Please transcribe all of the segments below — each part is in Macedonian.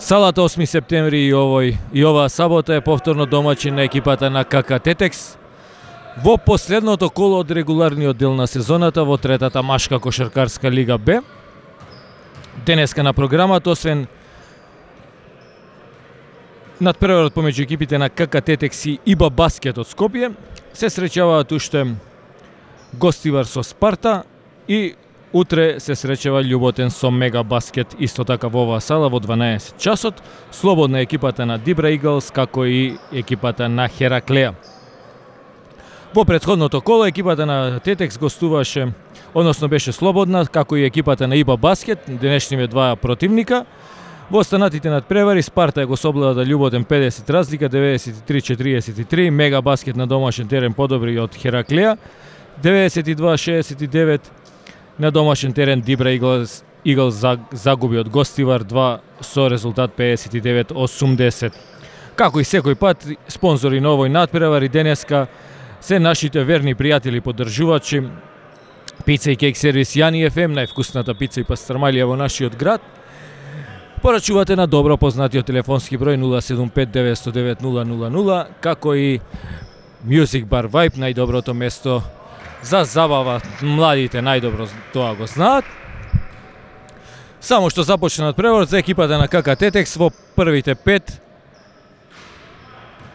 Салата 8 септември и оваа сабота е повторно домаќин на екипата на КК Тетекс во последното коло од регуларниот дел на сезоната во третата машка кошаркарска лига Б. Денеска на програмата, освен надпреварот помеѓу екипите на КК Тетекс и ИБА Баскет од Скопје, се среќаваат уште Гостивар со Спарта и утре се среќава Љуботен со Мега Баскет, исто така во оваа сала во 12 часот. Слободна екипата на Дибра Иглс, како и екипата на Хераклеја. Во претходното коло екипата на Тетекс гостуваше, односно беше слободна, како и екипата на ИБА Баскет, денешниве два противника. Во останатите надпревари Спарта го соблада Љуботен 50 разлика, 93-43, Мега Баскет на домашен терен подобри од Хераклеја, 92-69, на домашен терен Дибра Иглс загуби од Гостивар 2 со резултат 59-80. Како и секој пат, спонзори на овој надпревар и денеска се нашите верни пријатели поддржувачи Пица и кейк сервис Јани ФМ, највкусната пица и пастрмалија во нашиот град. Порачувате на добро познатиот телефонски број 075-909-000, како и Music Bar Vibe, најдоброто место за забава, младите најдобро тоа го знаат. Само што започна надпреварот за екипата на КК Тетекс во првите 5.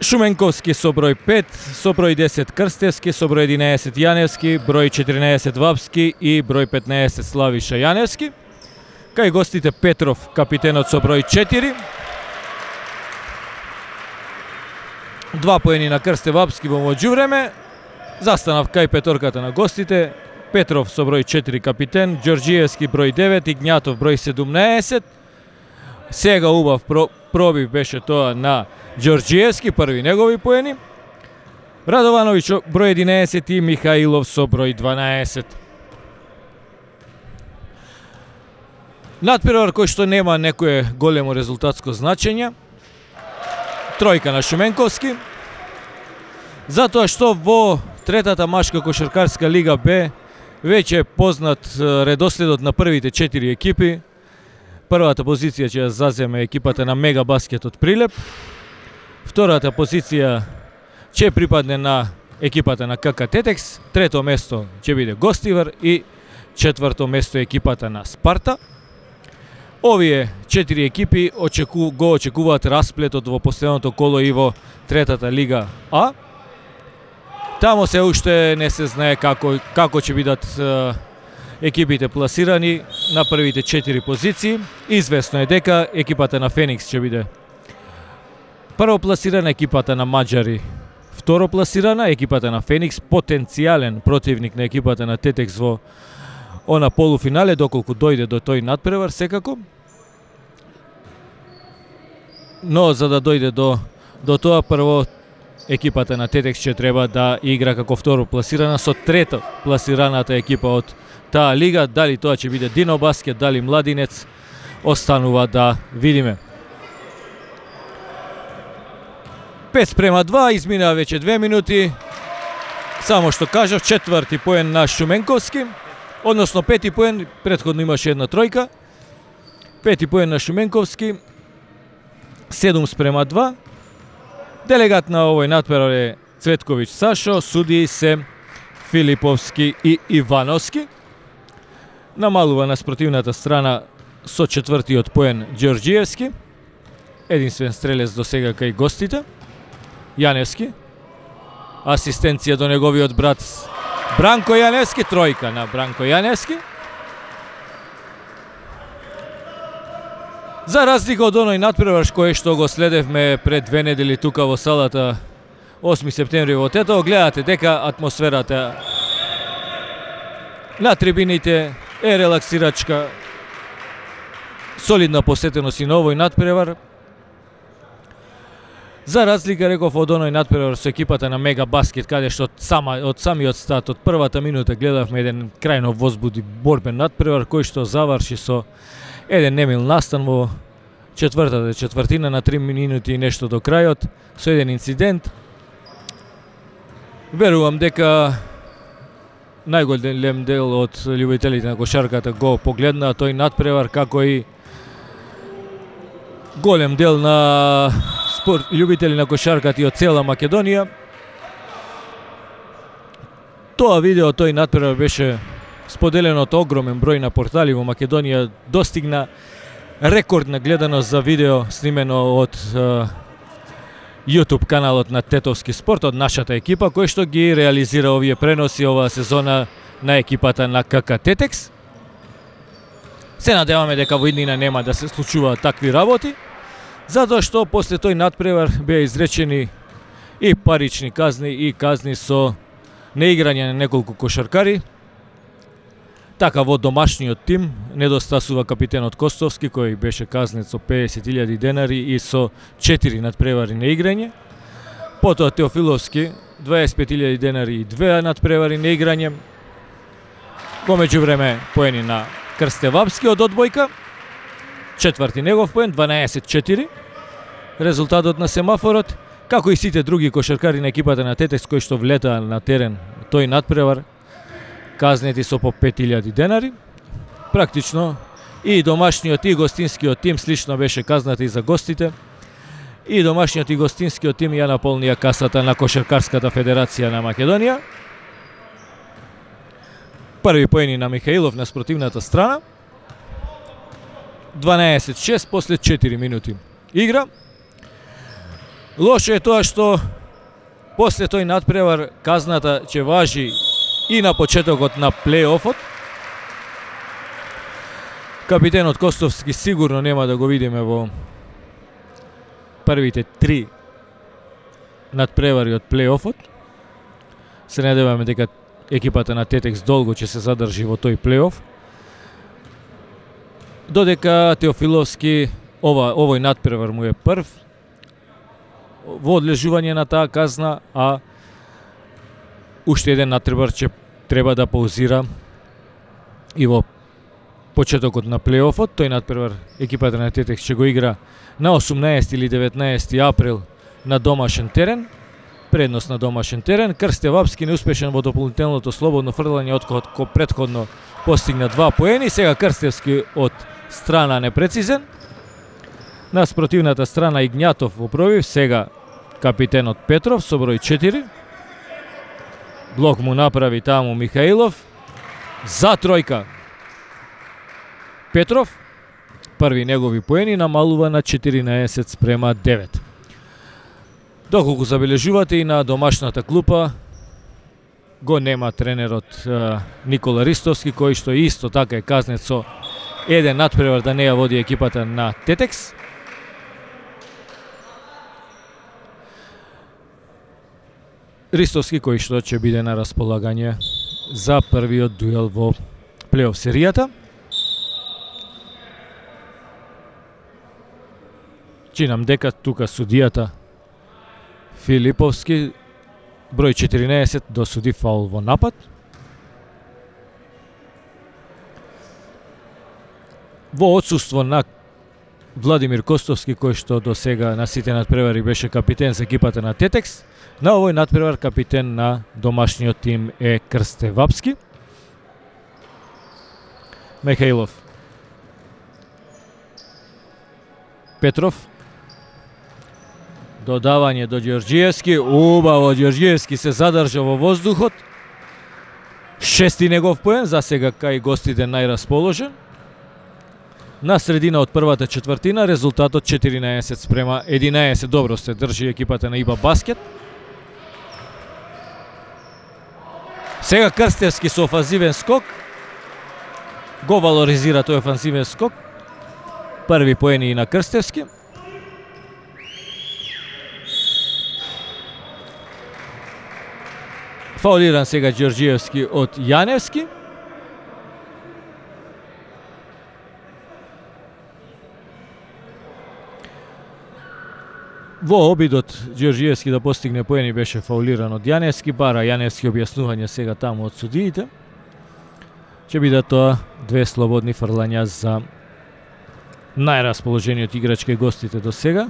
Шуменковски со број 5, со број 10 Крстевски, со број 11 Јаневски, број 14 Вапски и број 15 Славиша Јаневски. Кај гостите Петров, капитенот со број 4. 2 поени на Крсте Вапски во меѓувреме. Застанав кај петорката на гостите, Петров со број 4 капитен, Ѓорѓиевски број 9, Игњатов број 17. Сега убав пробив беше тоа на Ѓорѓиевски, први негови поени. Радовановиќ број 11 и Михаилов со број 12. Надпревар кој што нема некое големо резултатско значење. Тројка на Шуменковски. Затоа што во третата машка кошаркарска лига Б веќе е познат редоследот на првите 4 екипи. Првата позиција ќе заземе екипата на Мега Баскет од Прилеп. Втората позиција ќе припадне на екипата на КК Тетекс. Трето место ќе биде Гостивар и четврто место екипата на Спарта. Овие 4 екипи го очекуваат расплетот во последното коло и во третата лига А. Тамо се уште не се знае како ќе бидат екипите пласирани на првите 4 позиции. Известно е дека екипата на Феникс ќе биде прво пласирана, екипата на Маđари второ пласирана, екипата на Феникс потенцијален противник на екипата на Тетекс во она полуфинале, доколку дојде до тој надпревар секако. Но за да дојде до тоа, прво екипата на Тетекс ќе треба да игра како второ пласирана со трето пласираната екипа од таа лига. Дали тоа ќе биде Дино Баскет, дали Младинец, останува да видиме. 5:2, изминаа веќе 2 минути. Само што кажав, четврти поен на Шуменковски, односно пети поен, претходно имаше една тројка. Пети поен на Шуменковски, 7:2. Делегат на овој надпревар е Цветковиќ Сашо, судии се Филиповски и Ивановски. Намалува на спротивната страна со четвртиот поен Ѓорѓиевски. Единствен стрелец до сега кај гостите. Јаневски. Асистенција до неговиот брат Бранко Јаневски, тројка на Бранко Јаневски. За разлика од оној надпревар кој што го следевме пред 2 недели тука во салата 8 септември во Тетово, гледате дека атмосферата на трибините е релаксирачка, солидна посетеност и на овој надпревар. За разлика, реков, од оној надпревар со екипата на Мега Баскет, каде што од самиот старт, од првата минута гледавме еден крајно возбуди борбен надпревар кој што заврши со еден немил настан во четвртата четвртина на 3 минути и нешто до крајот, со еден инцидент. Верувам дека најголем дел од љубителите на кошарката го погледнаа тој надпревар, како и голем дел на љубители на кошарката и од цела Македонија. Тоа видео, тој натпревар беше споделено од огромен број на портали во Македонија, достигна рекордна гледаност за видео снимено од YouTube каналот на Тетовски спорт, од нашата екипа, кој што ги реализира овие преноси оваа сезона на екипата на КК Тетекс. Се надеваме дека во иднина нема да се случуваат такви работи, затоа што после тој натпревар беа изречени и парични казни и казни со неиграње на неколку кошаркари. Така во домашниот тим недостасува капитенот Костовски, кој беше казнет со 50.000 денари и со 4 надпревари на играње. Потоа Теофиловски 25.000 денари и 2 надпревари на играње. Во меѓувреме поени на Крстевапски од одбојка. Четврти негов поен, 12-4. Резултатот на семафорот, како и сите други кошаркари на екипата на Тетекс кои што влетаа на терен тој надпревар, казнети со по 5.000 денари. Практично и домашниот и гостинскиот тим слично беше казнати за гостите. И домашниот и гостинскиот тим ја наполнија касата на Кошаркарската федерација на Македонија. Први поени на Михаилов на спротивната страна. 12-6 после 4 минути игра. Лошо е тоа што после тој надпревар казната ќе важи и на почетокот на плей-офот. Капитенот Костовски сигурно нема да го видиме во првите 3 надпревари од плей-офот. Се надеваме дека екипата на Тетекс долго ќе се задржи во тој плей-оф. Додека Теофиловски овој надпревар му е прв во одлежување на таа казна, а уште еден надпревар ќе треба да паузира и во почетокот на плей-офот. Тој надпревар екипата на Тетекс ќе го игра на 18 или 19 април на домашен терен. Предност на домашен терен. Крстевапски неуспешен во дополнителното слободно фрлање откако претходно постигна 2 поени. Сега Крстевски од страна непрецизен. На спротивната страна Игњатов во пробив, сега капитенот Петров со број 4. Блок му направи таму Михаилов. За тројка Петров. Први негови поени намалува на 14-9. Доколку забележувате и на домашната клупа го нема тренерот Никола Ристовски, кој што исто така е казнет со еден надпревар да не ја води екипата на Тетекс. Ристовски кој што ќе биде на располагање за првиот дуел во плей-оф серијата. Чинам дека тука судијата Филиповски, број 14, досуди фаул во напад. Во отсуство на Владимир Костовски, кој што до сега на сите надпревари беше капитен за екипата на Тетекс, на овој надпревар капитен на домашниот тим е Крстевапски. Михаилов. Петров. Додавање до Ѓорѓиевски, убаво Ѓорѓиевски се задржа во воздухот. Шести негов поен, за сега кај гостите најрасположен. На средина од првата четвртина, резултатот 14-11. Добро се држи екипата на ИБА Баскет. Сега Крстевски со офанзивен скок. Го валоризира тој офанзивен скок. Први поени и на Крстевски. Фаулиран сега Ѓорѓиевски од Јаневски. Во обидот Ѓорѓиевски да постигне поени беше фаулиран од Јаневски, бара Јаневски објаснување сега таму од судиите. Ќе бидат тоа 2 слободни фрлања за најрасположениот играч кај гостите до сега.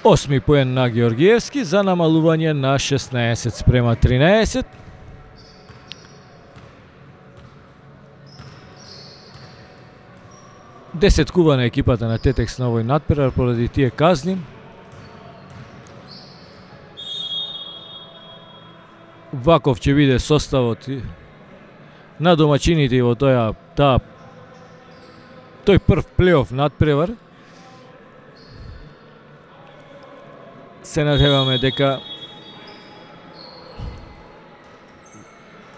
8 поен на Георгиевски за намалување на 16 спрема 13. Десеткува на екипата на Тетекс на овој надпревар поради тие казни. Ваков ќе биде составот на домачините во тој прв плейоф надпревар. Се надеваме дека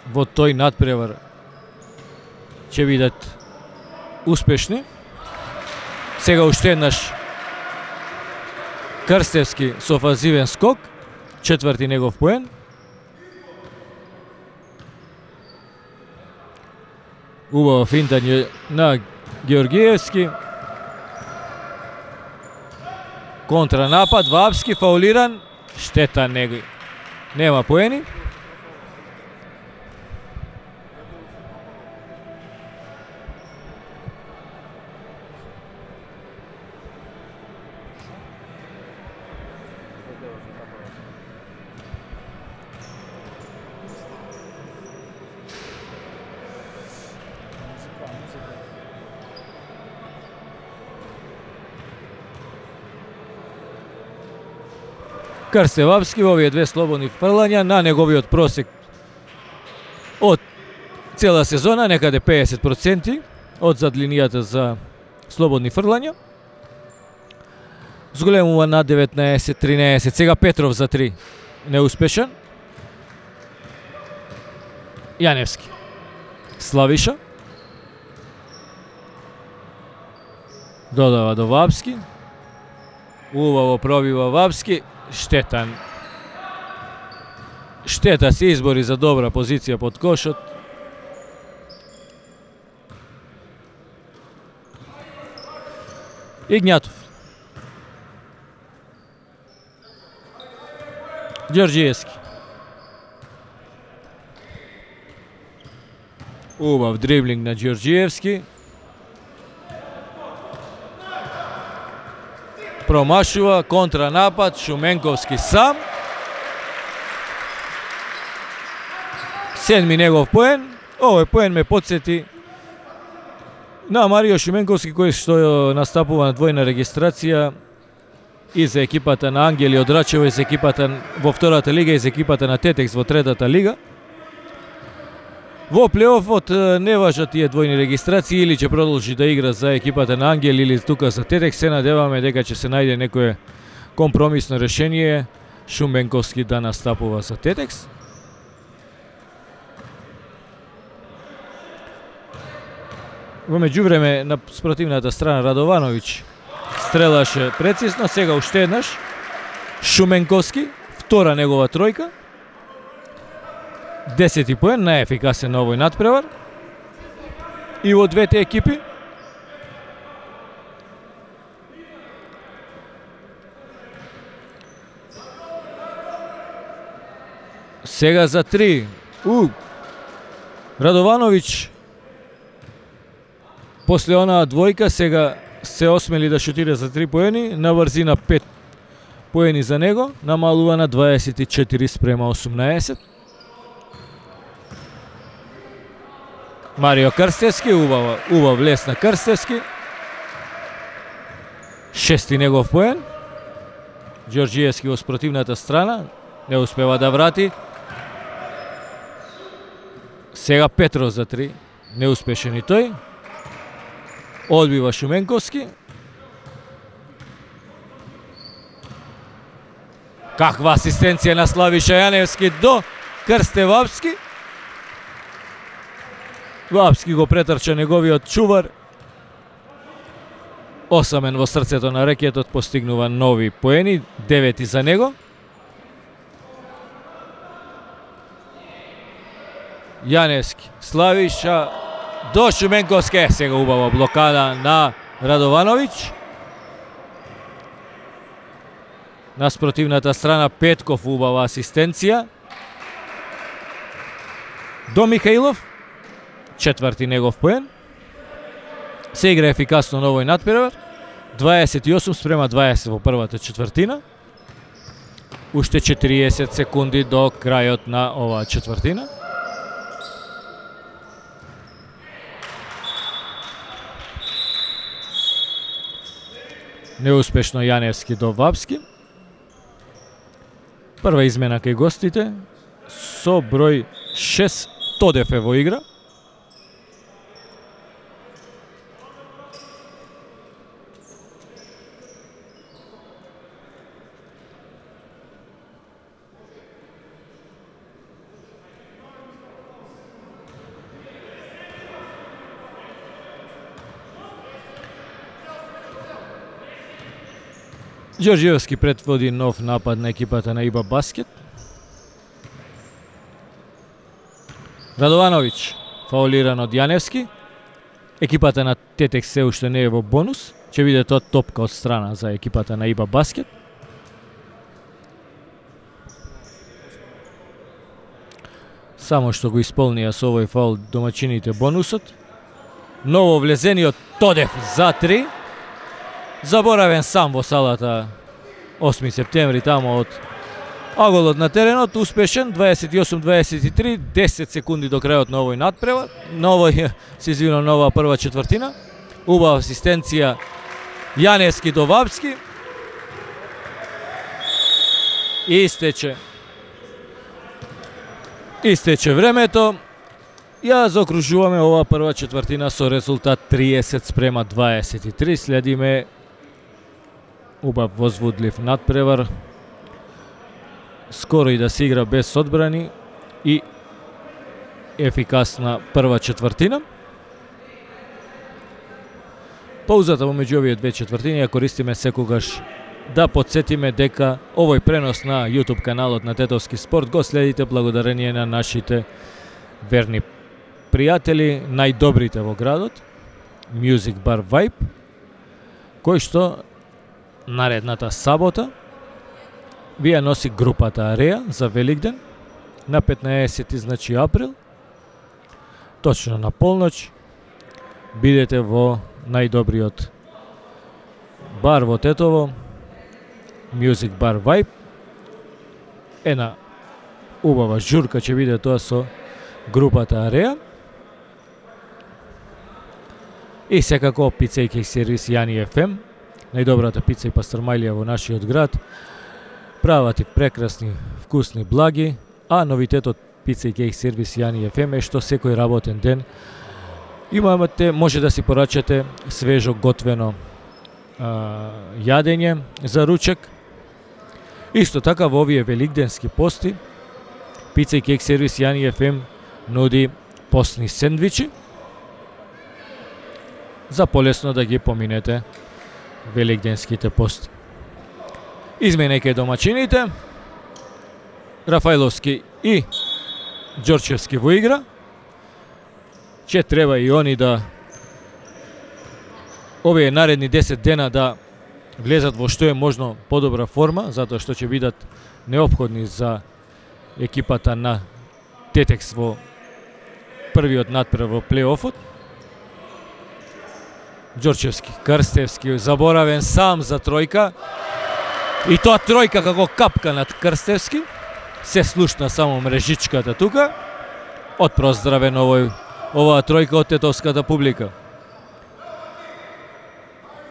во тој надпревар ќе бидат успешни. Сега уште еднаш Крстевски со офанзивен скок, четврти негов поен. Убаво финтање на Георгиевски. Контранапад, Вапски, фаулиран, штета нема поени. Крстевапски во овие две слободни фрлања на неговиот просек од цела сезона, некаде 50% од зад линијата за слободни фрлања. Зголемува на 19-13, сега Петров за 3, неуспешен. Јаневски, Славиша, додава до Вапски, убаво пробива Вапски. Штета се избори за добра позиција под кошот. Игњатов. Ѓорѓиевски. Убав дриблинг на Ѓорѓиевски. Промашува, контранапад, Шуменковски сам. Седми негов поен. Овој поен ме подсети на Марио Шуменковски, кој што настапува на двојна регистрација и за екипата на Ангели од Рачево и за екипата во втората лига и за екипата на Тетекс во третата лига. Во плейофот не важат тие двојни регистрации, или ќе продолжи да игра за екипата на Ангел или тука за Тетекс. Се надеваме дека ќе се најде некое компромисно решение, Шуменковски да настапува за Тетекс. Во меѓувреме на спротивната страна Радовановиќ стрелаше прецизно, сега уште еднаш Шуменковски, втора негова тројка. 10 поен, најефикасен на овој надпревар и во двете екипи. Сега за 3. Радовановиќ после онаа двојка сега се осмели да шутира за 3 поени, на брзина 5 поени за него, намалува на 24 спрема 18. Марио Крстевски, убав лес на Крстевски. Шести негов поен. Ѓорѓиевски во спротивната страна, не успева да врати. Сега Петров за 3, неуспешен и тој. Одбива Шуменковски. Каква асистенција на Славиша Јаневски до Крстевапски. Вапски го претрча неговиот чувар. Осамен во срцето на рекетот, постигнува нови поени, 9 за него. Јаневски, Славиша до Шуменковски, сега убава блокада на Радовановиќ. На спротивната страна Петков, убава асистенција. До Михаилов, четврти негов поен. Се игра ефикасно на овој надпревар. 28 спрема 20 во првата четвртина. Уште 40 секунди до крајот на оваа четвртина. Неуспешно Јаневски до Вапски. Прва измена кај гостите со број 6 Тодев е во игра. Ѓорѓиевски предводи нов напад на екипата на ИБА Баскет. Радовановиќ фаулиран од Јаневски. Екипата на Тетекс се уште не е во бонус. Ќе биде тоа топка од страна за екипата на ИБА Баскет. Само што го исполнија со овој фаул домачините бонусот. Ново влезениот Тодев за 3. Заборавен сам во салата 8 септември тамо од аголот на теренот, успешен 28-23, 10 секунди до крајот на овој надпревар, на оваа прва четвртина. Убава асистенција Јаневски до Вапски. Истече времето. Ја заокружуваме оваа прва четвртина со резултат 30-23. Следиме убав возвудлив надпревар. Скоро и да се игра без одбрани и ефикасна прва четвртина. Паузата помеѓу овие две четвртини ја користиме секогаш да подсетиме дека овој пренос на YouTube каналот на Тетовски спорт го следите благодарение на нашите верни пријатели, најдобрите во градот, Music Bar Vibe, кој што наредната сабота ви ја носи групата Ареа за Великден на 15 значи април. Точно на полноќ бидете во најдобриот бар во Тетово, Music Bar Vibe. Една убава журка ќе биде тоа со групата Ареа. И секако пица и кејк сервис Јани FM, најдобрата пица и пастрмајлија во нашиот град. Прават и прекрасни, вкусни благи, а новитетот пица и кејк сервис Јани FM е што секој работен ден може да си порачате свежо готвено јадење за ручек. Исто така во овие великденски пости пица и кејк сервис Јани FM нуди постни сендвичи за полесно да ги поминете великденските пости. Измена кај домачините, Рафајловски и Ѓорчевски во игра. Ќе треба и они да овие наредни 10 дена да влезат во што е можно подобра форма, затоа што ќе бидат неопходни за екипата на Тетекс во првиот надпревар во плей-офот. Ѓорчевски, Крстевски, заборавен сам за тројка. И тоа тројка како капка над Крстевски. Се слушна само мрежичката тука. Отпроздравен оваа тројка од тетовската публика.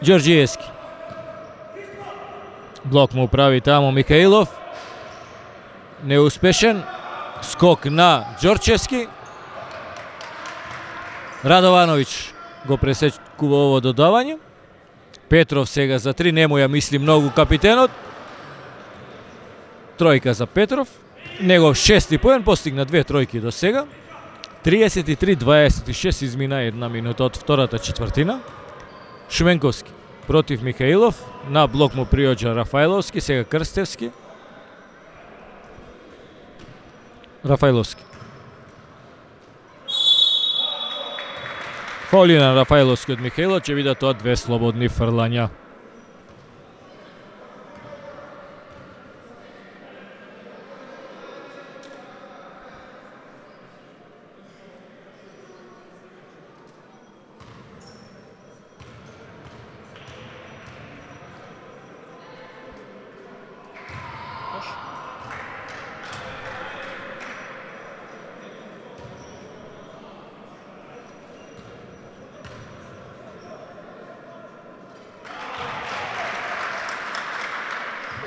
Ѓорѓиевски. Блок му прави тамо Михаилов. Неуспешен. Скок на Ѓорчевски. Радовановиќ го пресекува ово додавање. Петров сега за 3, нему ја мисли многу капитенот. Тројка за Петров. Негов шести поен, постигна 2 тројки до сега. 33-26 измина 1 минута од втората четвртина. Шуменковски против Михаилов. На блок му приоѓа Рафајловски, сега Крстевски. Рафајловски. Фаули на Рафајловски од Михаилов, ќе бидат тоа 2 слободни фрлања.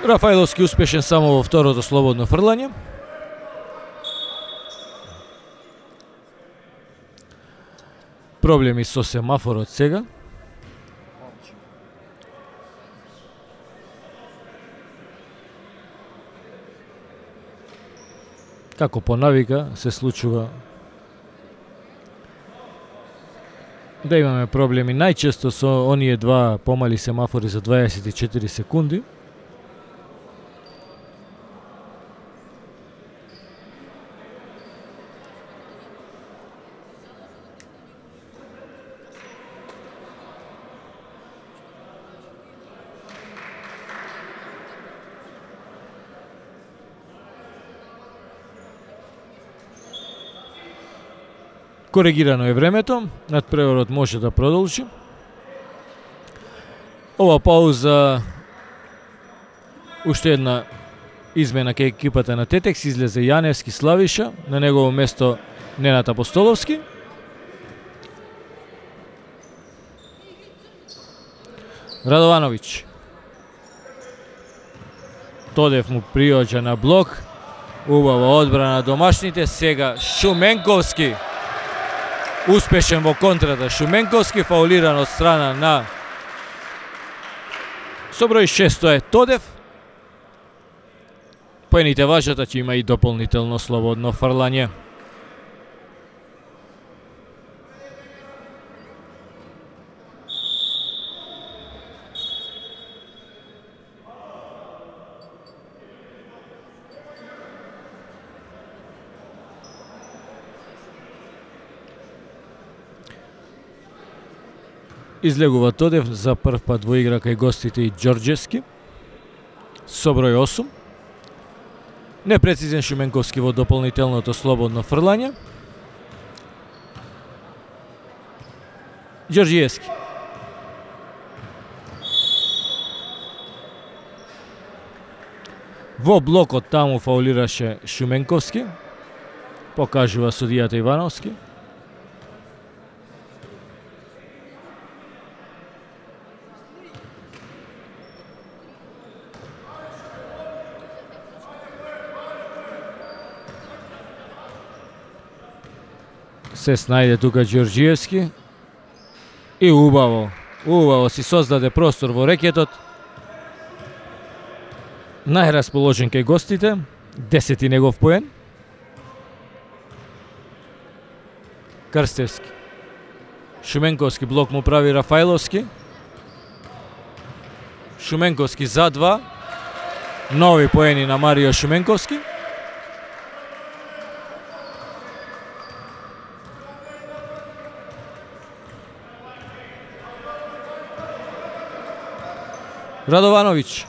Рафаиловски успешен само во второто слободно фрлање. Проблеми со семафорот сега. Како по навика се случува да имаме проблеми најчесто со оние два помали семафори за 24 секунди. Коригирано е времето, надпреварот може да продолжи. Ова пауза, уште една измена кај екипата на Тетекс, излезе Јаневски Славиша, на негово место Ненат Апостоловски. Радовановиќ. Тодев му приоѓа на блок, убава одбрана домашните, сега Шуменковски. Успешен во контрата Шуменковски, фаулиран од страна на со број 6 е Тодев. Поените важат, че има и дополнително слободно фрлање. Излегува Тодев за прв пат во игра кај гостите и Ѓорѓевски со број 8. Непрецизен Шуменковски во дополнителното слободно фрлање. Ѓорѓиевски. Во блокот таму фаулираше Шуменковски. Покажува судијата Ивановски. Се снајде тука Ѓорѓиевски и убаво си создаде простор во рекетот. Најрасположен кај гостите, 10 негов поен. Крстевски. Шуменковски блок му прави Рафаиловски. Шуменковски за 2. Нови поени на Марио Шуменковски. Радовановиќ.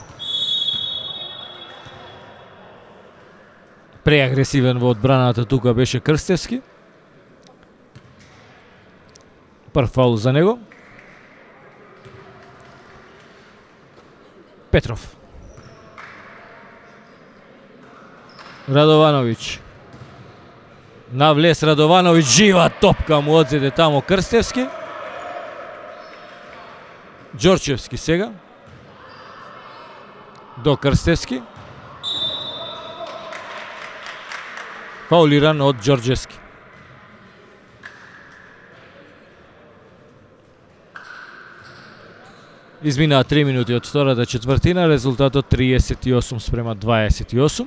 Преагресивен во одбраната тука беше Крстевски. Прв фаул за него. Петров. Радовановиќ. Навлез Радовановиќ, жива топка му одзеде тамо Крстевски. Ѓорчевски сега. До Крстевски. Фаулиран од Ѓорѓевски. Изминаа 3 минути од втората четвртина, резултатот 38-28.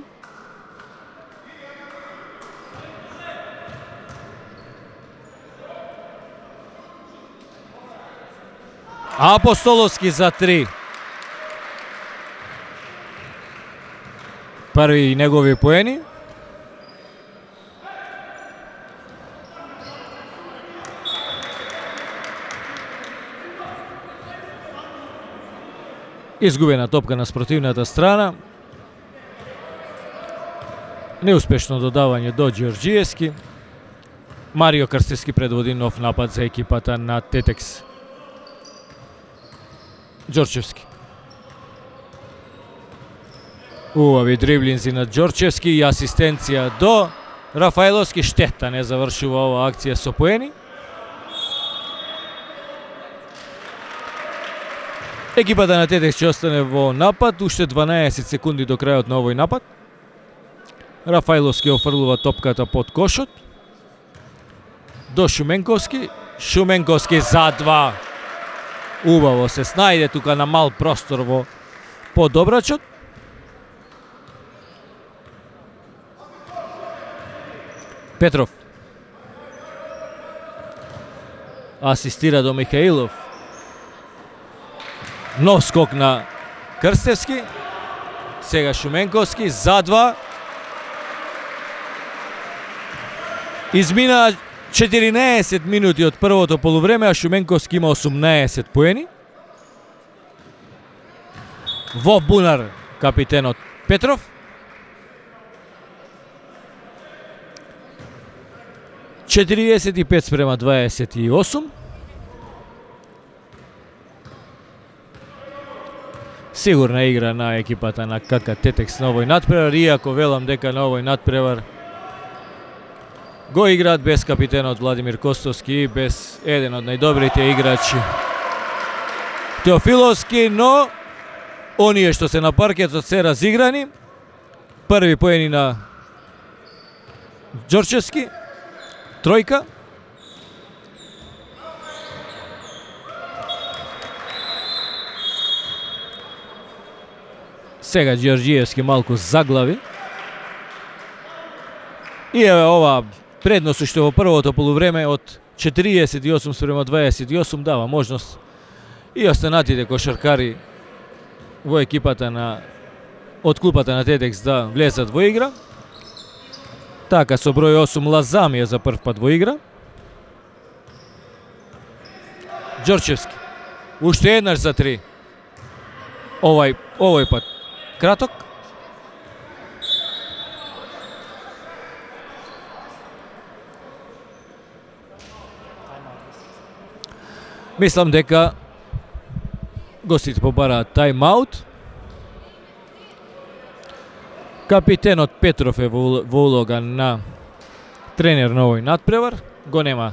Апостоловски за 3. Први негови поени. Изгубена топка на спротивната страна. Неуспешно додавање до Ѓорѓиевски. Марио Крстевски предводи нов напад за екипата на Тетекс. Ѓорчевски. Убави дриблинзи на Ѓорчевски и асистенција до Рафаиловски. Штета не завршува ова акција со поени. Екипата на Тетекс ќе остане во напад, уште 12 секунди до крајот на овој напад. Рафаиловски офрлува топката под кошот. До Шуменковски. Шуменковски за 2. Убаво се снајде тука на мал простор во подобрачот. Петров. Асистира до Михаилов. Нов скок на Крстевски. Сега Шуменковски за 2. Измина 14 минути од првото полувреме, а Шуменковски има 18 поени. Во бунар капитенот Петров. Четириесет и 5 спрема 28. Сигурна игра на екипата на КК Тетекс на овој надпревар, иако велам дека на овој надпревар го играат без капитенот Владимир Костовски и без еден од најдобрите играчи Теофиловски, но оние што се на паркетот се разиграни. Први поени на Ѓорчевски, тројка. Сега Ѓорѓиевски малку заглави. И еве ова предност уште во првото полувреме од 48 спрема 28 дава можност и останатите кошаркари во екипата од клупата на Тетекс да влезат во игра. Така со број 8 Лазам е за прв пат во игра. Ѓорчевски. Уште еднаш за 3. Овој пат краток. Мислам дека гостите побараат тајм-аут. Капитенот Петров е во улога на тренер на овој надпревар. Го нема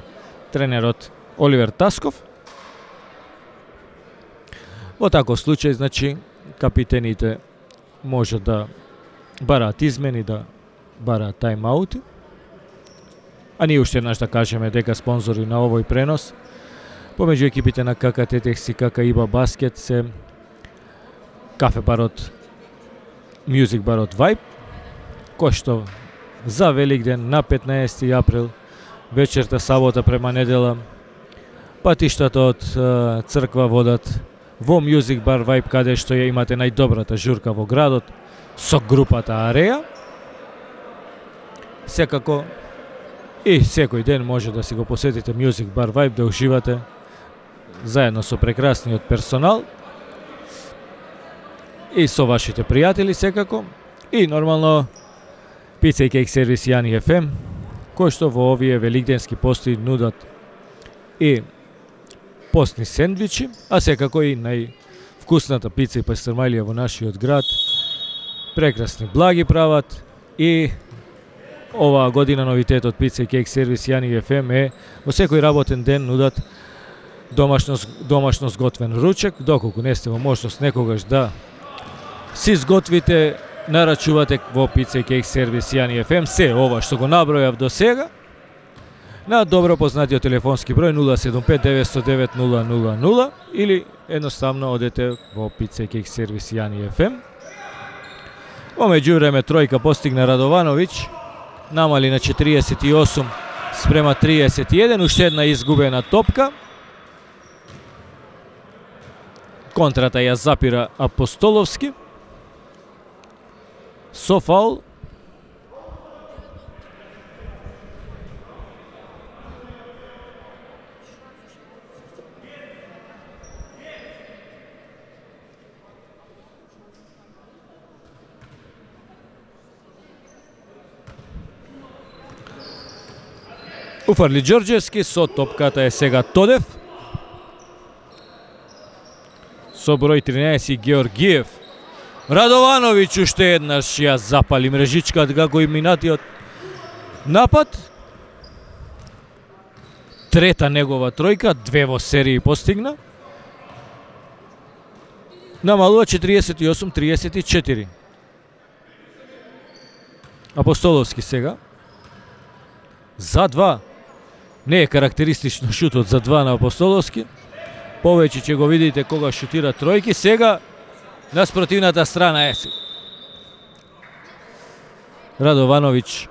тренерот Оливер Тасков. Во таков случај, значи, капитените може да бараат измени, да бараат тајм-аути. А ние уште еднаш да кажеме дека спонзори на овој пренос помеѓу екипите на КК Тетекс и КК ИБА Баскет се кафе барот Music барот Vibe, кој што за Великден на 15 април вечерта сабота према недела патиштата од црква водат во Music Bar Vibe, каде што ја имате најдобрата журка во градот со групата Ареја. Секако и секој ден може да си го посетите Music Bar Vibe, да уживате заедно со прекрасниот персонал и со вашите пријатели секако. И нормално пица и кейк сервис Јани FM, кој што во овие великденски пости нудат и постни сендвичи, а секако и највкусната пица и пастрмајлија во нашиот град. Прекрасни благи прават и оваа година новитетот пица и кейк сервис Јани FM е во секој работен ден нудат домашно сготвен ручек. Доколку не сте во можност некогаш да си сготвите, нарачувате во пица и кейк сервис Јани FM се ова што го набројав до сега на добро познатиот телефонски број 075 909 000 или едноставно одете во пица и кейк сервис Јани FM. Во меѓувреме тројка постигна Радовановиќ, намали на 48 спрема 31, уште една изгубена топка. Контрата ја запира Апостоловски со фаул. Уфарли Ѓорѓевски, со топката е сега Тодев. Со број 13 Георгиев. Радовановиќ уште еднаш ја запали мрежичката како и минатиот напад. Трета негова тројка, две во серии постигна. намалува 48-34. Апостоловски сега. За 2. Не е карактеристично шутот за 2 на Апостоловски. Повеќе ќе го видите кога шутира тројки. Сега на спротивната страна е. Радовановиќ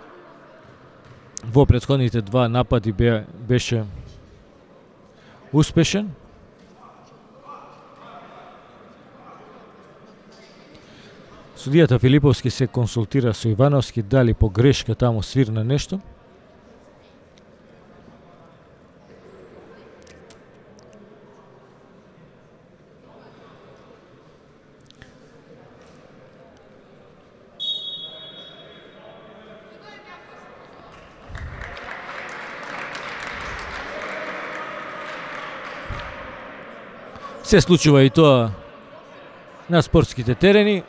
во претходните 2 напади беше успешен. Судијата Филиповски се консултира со Ивановски, дали по грешка таму свирна нешто. Се случува и тоа на спортските терени.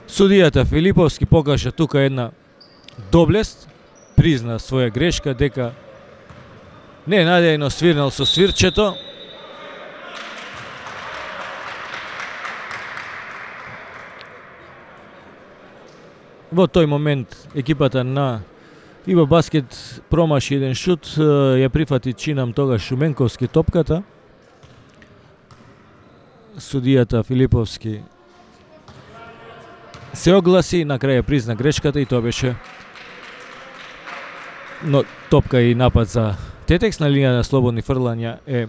Судијата Филиповски покажа тука една доблест, призна своја грешка дека ненадејно свирнал со свирчето. Во тој момент екипата на Иба Баскет промаши еден шут, ја прифати чинам тогаш Шуменковски топката. Судијата Филиповски се огласи, на крај призна грешката и тоа беше но топка и напад за Тетекс на линија на слободни фрлања е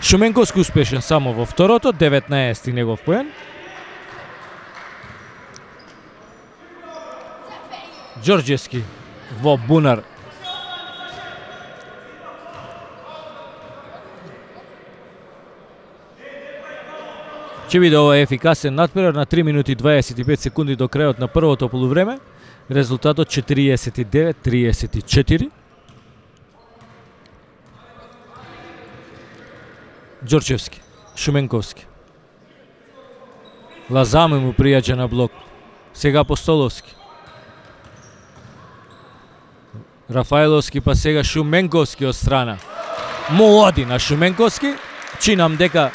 Шуменковски успешен само во второто, 19-ти негов поен. Ѓорѓевски во бунар. Ќе биде ова ефикасен надпревар на 3 минути 25 секунди до крајот на првото полувреме. Резултатот 49-34. Ѓорѓевски, Шуменковски. Лазаме му пријаѓа на блок. Сега Апостоловски. Рафаеловски, па сега Шуменковски од страна. Му оди на Шуменковски. Чинам дека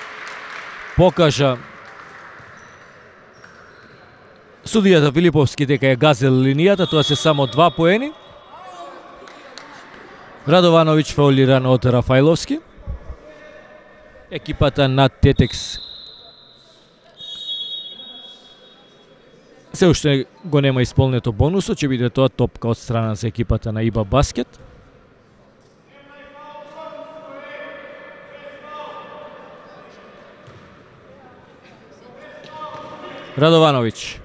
покажа судијата Филиповски дека е газел линијата, тоа се само 2 поени. Радовановиќ фаулиран од Рафаеловски. Екипата на Тетекс се уште го нема исполнето бонусот, ќе биде тоа топка од страна за екипата на Иба Баскет. Радовановиќ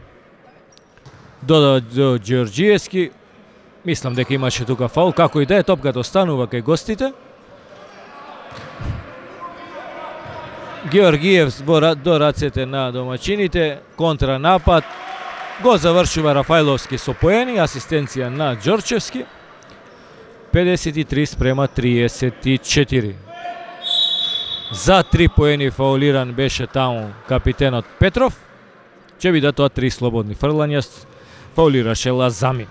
додава до Ѓорѓиевски. Мислам дека имаше тука фаул, како и да е, топката останува кај гостите. Георгиев до рацете на домачините, контранапад. Го завршува Рафаеловски со поени, асистенција на Ѓорчевски. 53-34. За 3 поени фаулиран беше таму капитенот Петров. Ќе биде тоа 3 слободни фрлања, фаулираше Лазами.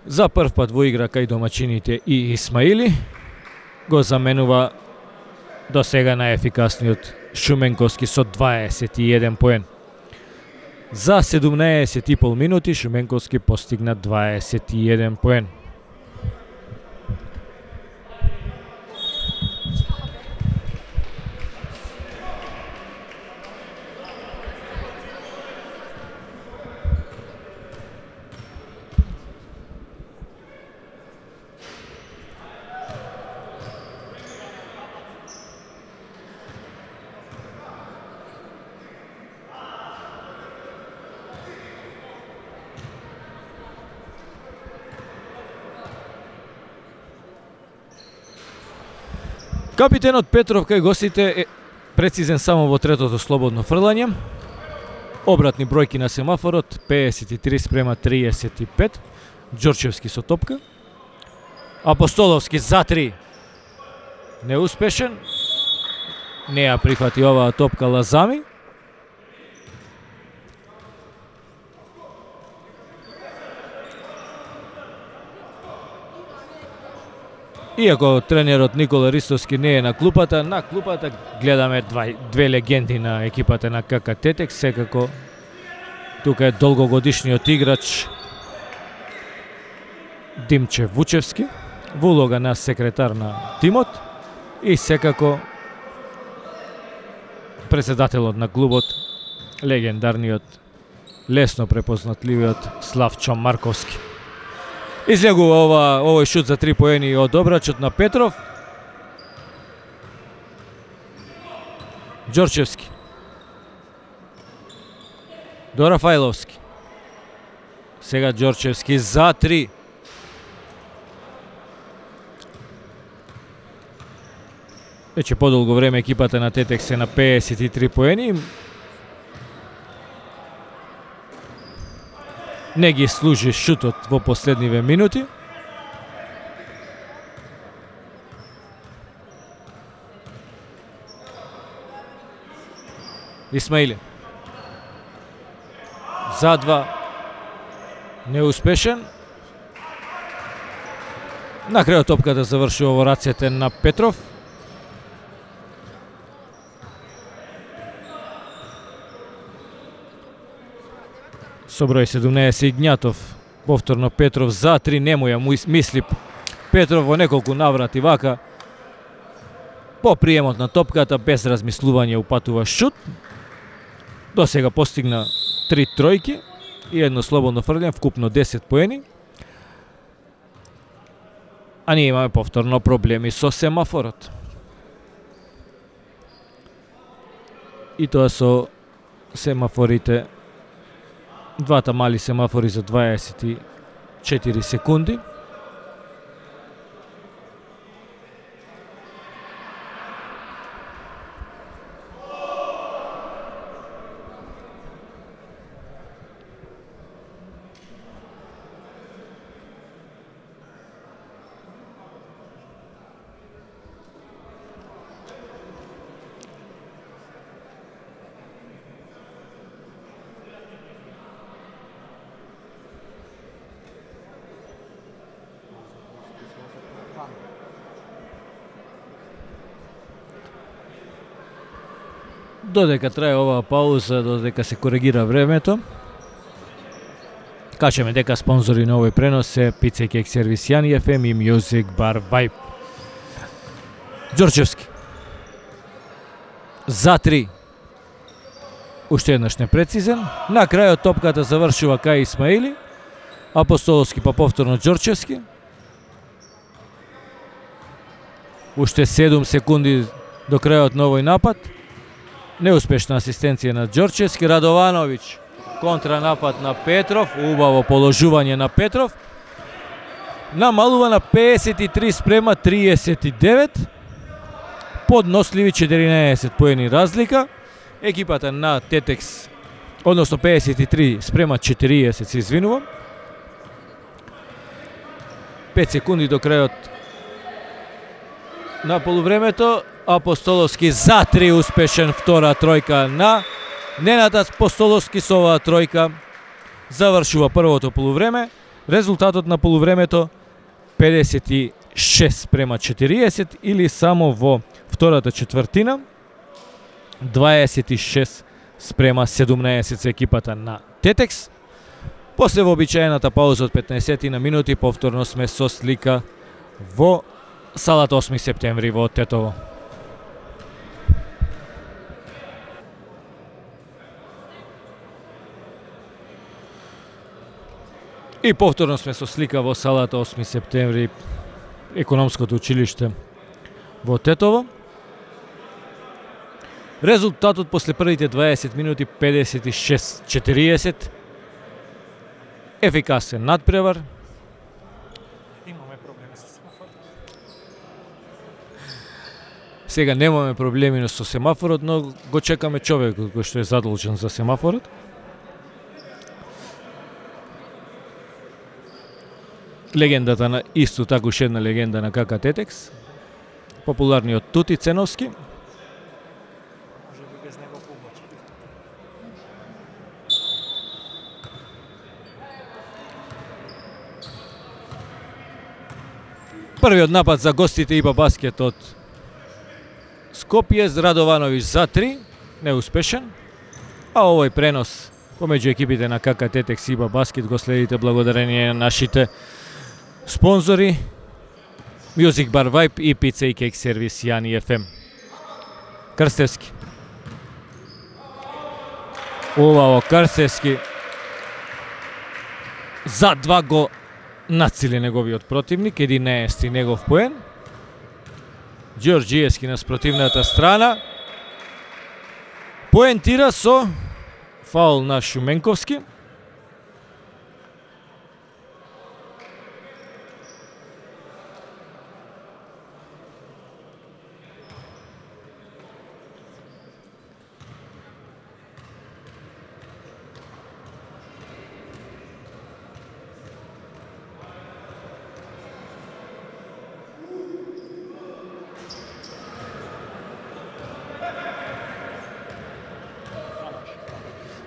За прв пат во игра кај домачините и Исмаили го заменува до сега најефикасниот Шуменковски со 21 поен. За 17,5 минути Шуменковски постигна 21 поен. Капитенот Петров кај гостите е прецизен само во третото слободно фрлање. Обратни бројки на семафорот, 53-35. Ѓорчевски со топка. Апостоловски за 3. Неуспешен. Не ја прифати оваа топка Лазами. Иако тренерот Никола Ристовски не е на клупата гледаме две легенди на екипата на КК Тетекс. Секако тука е долгогодишниот играч Димче Вучевски во улога на секретар на тимот и секако председателот на клубот, легендарниот, лесно препознатливиот Славчо Марковски. Излегува овој шут за 3 поени од обрачот на Петров. Ѓорчевски до Рафаиловски. Сега Ѓорчевски за 3. Веќе подолго време екипата на Тетекс е на 53 поени. Не ги служи шутот во последниве минути. Исмаили за 2, неуспешен. На крајот топката завршува во рацете на Петров. Со број 17 Игњатов, повторно Петров за 3, не му ја мисли Петров во неколку наврати вака. По приемот на топката, без размислување упатува шут. До сега постигна 3 тројки и едно слободно фрлење, вкупно 10 поени. А ние имаме повторно проблеми со семафорот. И тоа со семафорите, двата мали семафори за 24 секунди. Додека трае оваа пауза, додека се коригира времето, кажеме дека спонзори на овој пренос се Pizza Cake Service Јани FM и Music Bar Vibe. Ѓорчевски за 3. Уште еднаш непрецизен. На крајот топката завршува кај Исмаили. Апостоловски па повторно Ѓорчевски. Уште 7 секунди до крајот на овој напад. Неуспешна асистенција на Ѓорчевски. Радовановиќ, контранапад на Петров, убаво положување на Петров. Намалува на 53:39. Подносливи 14 поени разлика. Екипата на Тетекс, односно 53:40, се извинувам. 5 секунди до крајот на полувремето. Апостоловски за 3, успешен, втора тројка на Ненад Апостоловски. Со оваа тројка завршува првото полувреме. Резултатот на полувремето 56:40 или само во втората четвртина 26:17 за екипата на Тетекс. После вообичаената пауза од 15 на минути повторно сме со слика во салата 8 септември во Тетово. И повторно сме со слика во салата 8 септември, економското училиште во Тетово. Резултатот после првите 20 минути 56:40. Ефикасен надпревар. Имаме проблеми со семафорот. Сега немаме проблеми со семафорот, но го чекаме човекот кој што е задолжен за семафорот. Легендата на исто така уште една легенда на КК Тетекс, популарниот Тути Ценовски. Првиот напад за гостите ИБА Баскет од Скопје, Радовановиќ за 3, неуспешен. А овој пренос помеѓу екипите на КК Тетекс и ИБА Баскет го следите благодарение на нашите спонзори Music Bar Vibe и Pizza и Cake Service Јани FM. Крстевски. Убаво Крстевски. За 2 го нацили неговиот противник, 11 негов поен. Ѓорѓиевски на спротивната страна. Поентира со фаул на Шуменковски.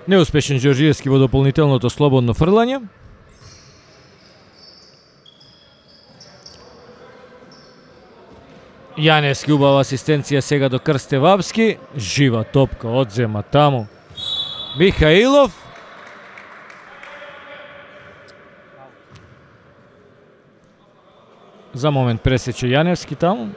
Неуспешен Ѓорѓиевски во дополнителното слободно фрлање. Јаневски убава асистенција сега до Крстевапски. Жива топка одзема таму Михаилов. За момент пресече Јаневски таму.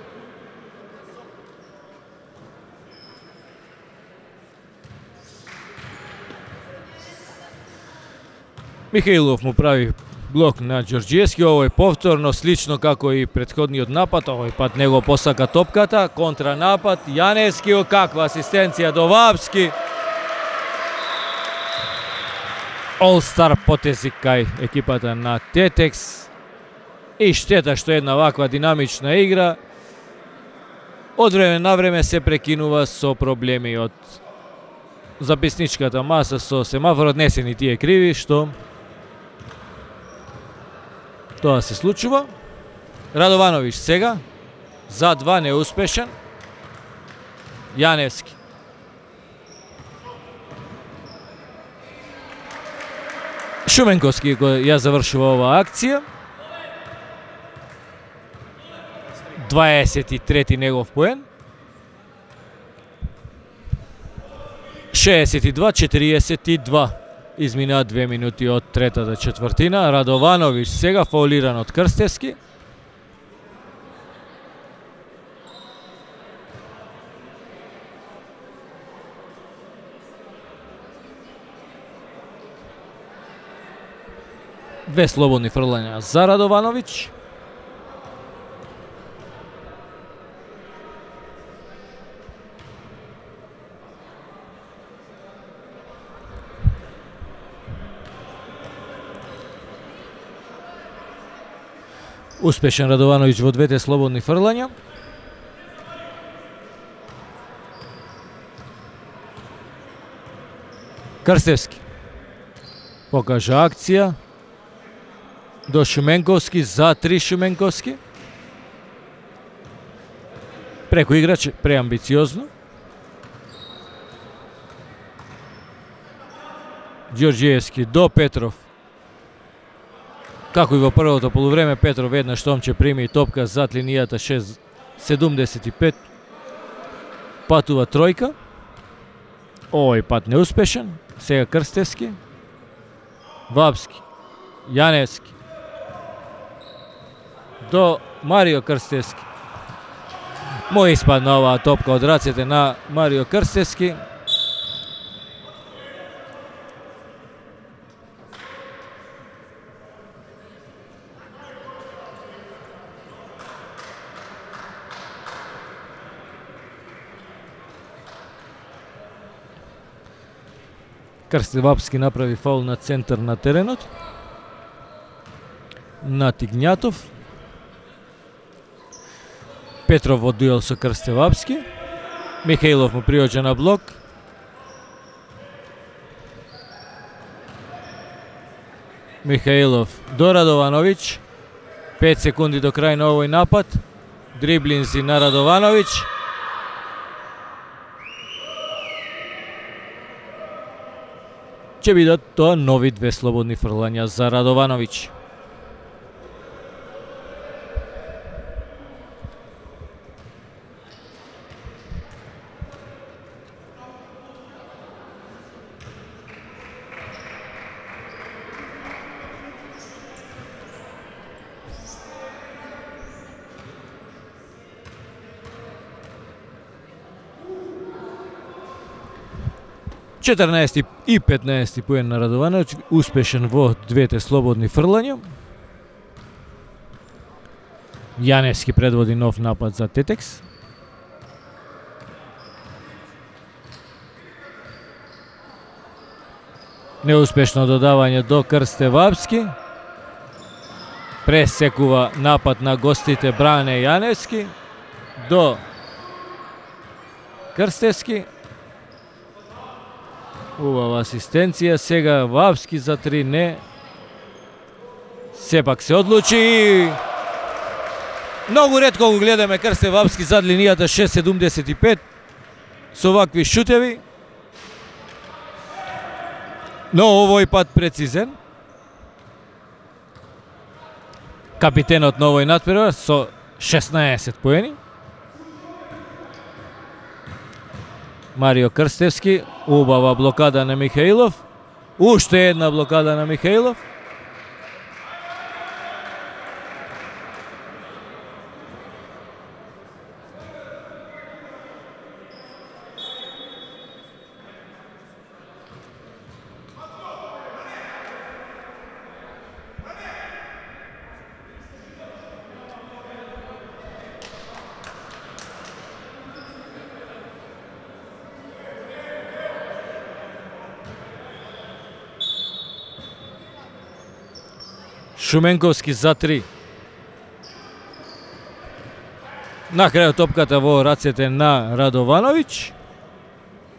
Михаилов му прави блок на Ѓорѓиевски, овој повторно слично како и претходниот напад, овој пат него посака топката, контранапад, Јаневски, каква асистенција до Вапски. All-Star потези кај екипата на Тетекс и штета што една ваква динамична игра од време на време се прекинува со проблеми од записничката маса, со семафорот. Не се ни тие криви што тоа се случува. Радовановиќ сега за 2 неуспешен. Јаневски. Шуменковски ја завршува оваа акција. 23 негов поен. 62-42. Изминаа 2 минути од третата четвртина. Радовановиќ сега фаулиран од Крстевски. Две слободни фрлања за Радовановиќ. Успешен Радовановиќ во двете слободни фрлања. Крстевски покажа акција до Шуменковски, за 3 Шуменковски. Преку играч, преамбициозно. Ѓорѓиевски до Петров. Како и во првото полувреме, Петров еднаш томче прими топка зад линијата 6-75. Патува тројка. Овој пат неуспешен. Сега Крстевски. Вапски. Јаневски. До Марио Крстевски. Му испадна оваа топка од рацете на Марио Крстевски. Крстевапски направи фаул на центар на теренот. На Тигњатов. Петров во дуел со Крстевапски. Михаилов му приоѓа на блок. Михаилов до Радовановиќ. 5 секунди до крај на овој напад. Дриблинзи на Радовановиќ. Ќе бидат тоа нови две слободни фрлања за Радовановиќ. 14 и 15 поен на Радовановиќ, успешен во двете слободни фрлања. Јаневски предводи нов напад за Тетекс. Неуспешно додавање до Крстевапски. Пресекува напад на гостите Бране Јаневски до Крстевски. Убава асистенција, сега Вапски за 3 не. Сепак се одлучи. Многу ретко го гледаме Крстев Вапски зад линијата 6.75 со вакви шутеви. Но овој пат прецизен. Капитенот на овој натпревар со 16 поени. Марио Крстевски, убава блокада на Михаилов. Уште една блокада на Михаилов. Шуменковски за 3. На крајот топката во рацете на Радовановиќ.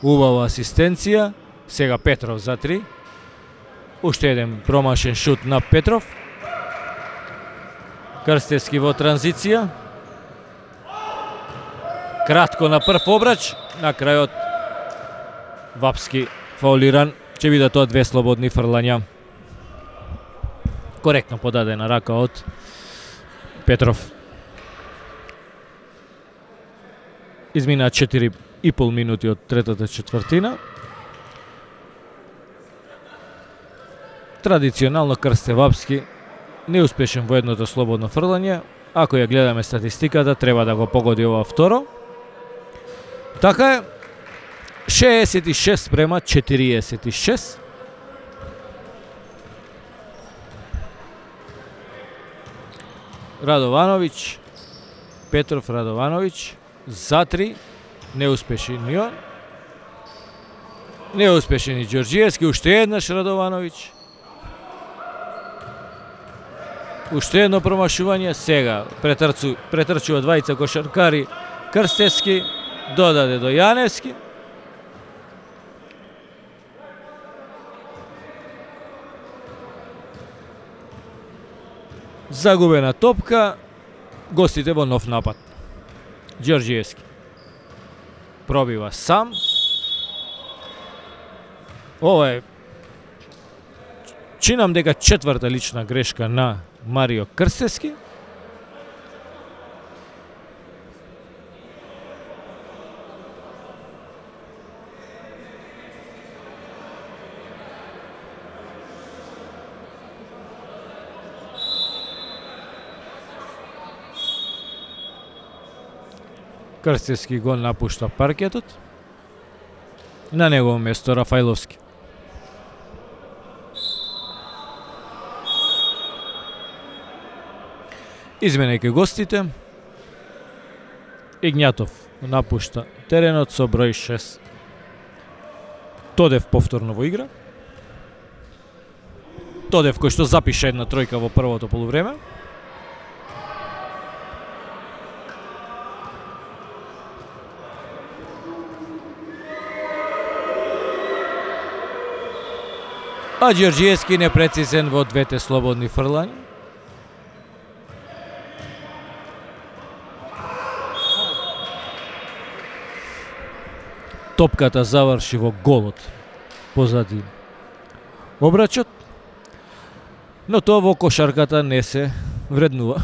Убава асистенција. Сега Петров за 3. Уште еден промашен шут на Петров. Крстевски во транзиција. Кратко на прв обрач. На крајот Вапски фаулиран. Ќе биде тоа две слободни фрлања. Коректно подадена рака од Петров. Измина 4,5 минути од третата четвртина. Традиционално Крстевапски неуспешен во едното слободно фрлање. Ако ја гледаме статистиката, треба да го погоди ова второ. Така е, 66:46. Радовановиќ, Петров, Радовановиќ, за 3, неуспешен и он. Неуспешен и Ѓорѓиевски, уште еднаш Радовановиќ. Уште едно промашување, сега претрчува двајца кошаркари, Крстевски, додаде до Јаневски. Загубена топка, гостите во нов напад. Ѓорѓиевски пробива сам. Ова е, чинам дека четврта лична грешка на Марио Крстевски. Крстевски го напушта паркетот. На негово место Рафајловски. Изменејќи гостите, Игњатов напушта теренот со број 6. Тодев повторно во игра. Тодев кој што запиша една тројка во првото полувреме. А Ѓорѓиевски непрецизен во двете слободни фрлања. Топката заврши во голот позади обрачот, но тоа во кошарката не се вреднува.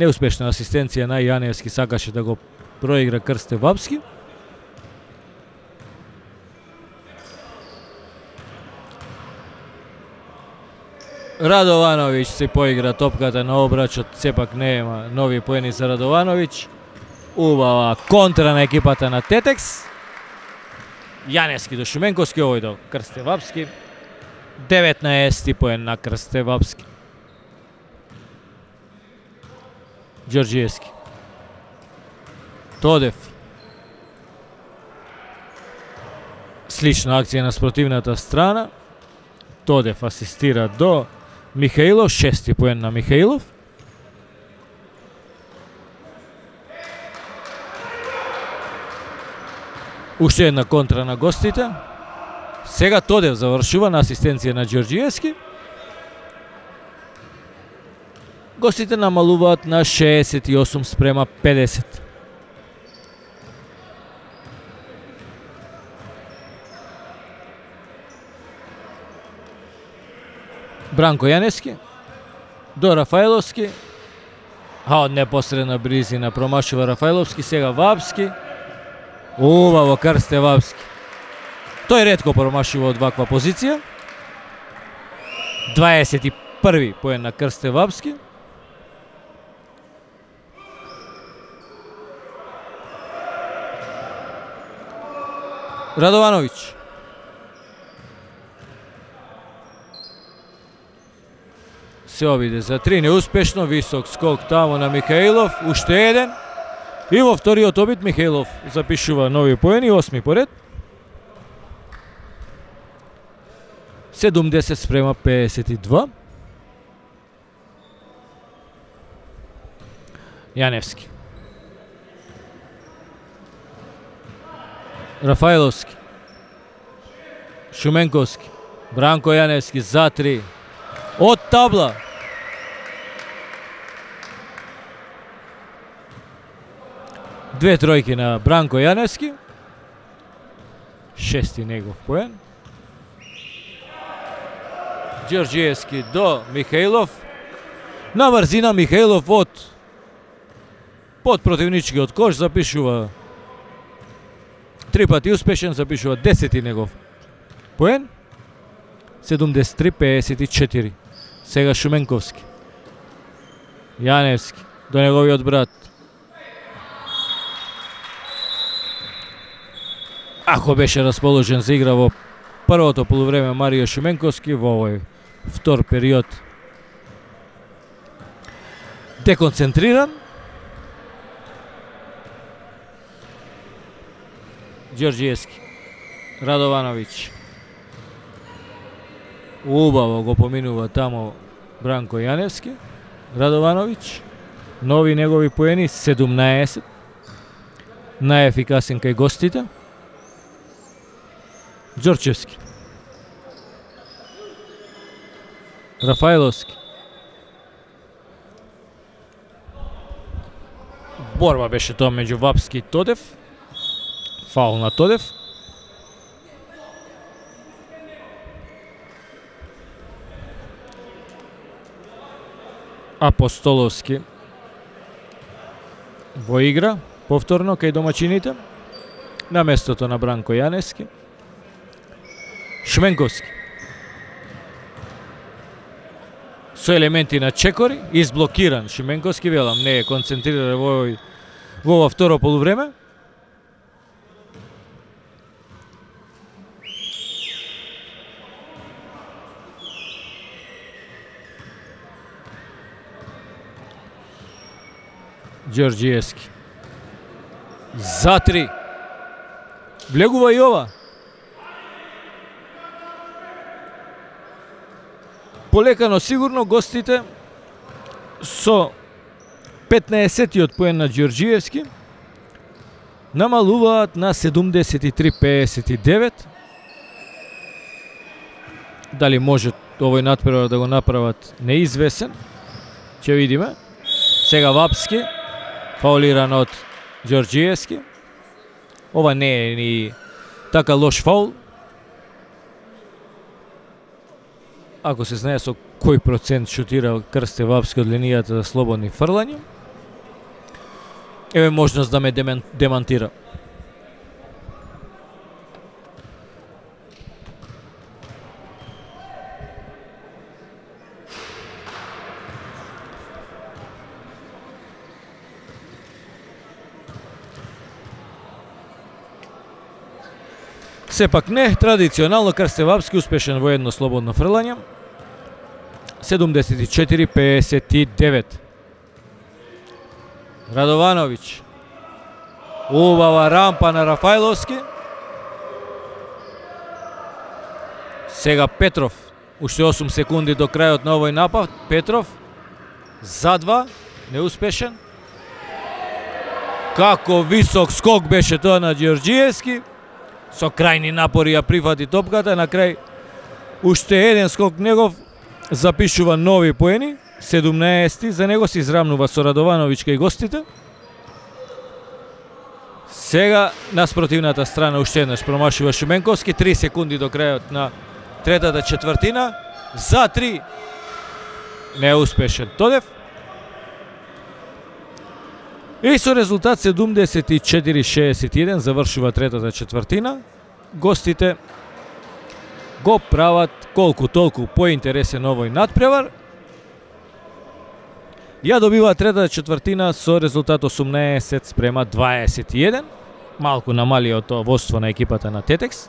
Неуспешна асистенција на Јаневски, сакаше да го проигра Крстевапски. Радовановиќ се поигра топката на обрачот, сепак нема нови поени за Радовановиќ. Убава контра на екипата на Тетекс. Јаневски до Шуменковски, овој до Крстевапски. 19 поен на Крстевапски. Ѓорѓиевски. Тодев. Слична акција на спротивната страна. Тодев асистира до Михаилов, 6 поен на Михаилов. Уште една контра на гостите. Сега Тодев завршува на асистенција на Ѓорѓиевски. Гостите намалуваат на 68 спрема 50. Бранко Јаневски до Рафаиловски. Од непосредна близина промашува Рафаиловски, сега Вапски. Убаво Крстевапски. Тој ретко промашува од ваква позиција. 21 поен на Крстевапски. Радовановиќ. Се обиде за 3, неуспешно, висок скок тамо на Михаилов, уште еден. И во вториот обид Михаилов запишува нови поени, 8 поред. 70 спрема 52. Јаневски. Рафаиловски. Шуменковски. Бранко Јаневски за 3. Од табла. Две тројки на Бранко Јаневски. 6 негов поен. Ѓорѓиевски до Михаилов. На брзина Михаилов под противничкиот кош запишува 3 пати успешен, запишува 10 негов поен. 73-54. Сега Шуменковски. Јаневски до неговиот брат. Ако беше расположен за игра во првото полувреме Марио Шуменковски, во овој втор период деконцентриран. Ѓорѓиевски. Радовановиќ. Убаво го поминува тамо Бранко Јаневски. Радовановиќ. Нови негови поени 17. Најефикасен кај гостите. Ѓорчевски. Рафаиловски. Борба беше тоа меѓу Вапски и Тодев. Фаул на Тодев. Апостоловски во игра повторно кај домачините на местото на Бранко Јаневски. Шуменковски со елементи на чекори, изблокиран Шуменковски, велам, не е концентриран во ова второ полувреме. Ѓорѓиевски. За 3. Влегува и ова. Полека, но сигурно гостите со 15-тиот поен на Ѓорѓиевски намалуваат на 73-59. Дали може овој натпревар да го направат неизвесен, ќе видиме. Сега Вапски, фаулиран од Ѓорѓиевски. Ова не е ни така лош фаул. Ако се знае со кој процент шутира Крстевапски од линијата за слободни фрлања. Еве можност да ме демантира. Сепак не, традиционално Крстевапски успешен во едно слободно фрлање. 74-59. Радовановиќ. Убава рампа на Рафајловски. Сега Петров. Уште 8 секунди до крајот на овој напад. Петров за 2, неуспешен. Како висок скок беше тоа на Ѓорѓиевски. Со крајни напори ја прифати топката. На крај уште еден скок негов запишува нови поени. 17 за него се израмнува со Радовановиќ кај гостите. Сега на спротивната страна уште еднаш промашува Шуменковски. 3 секунди до крајот на третата четвртина. За 3. Неуспешен Тодев. И со резултат 74-61 завршува третата четвртина. Гостите го прават колку толку поинтересен овој надпревар. Ја добива третата четвртина со резултат 18-21. Малку намалија од тоа водство на екипата на Тетекс.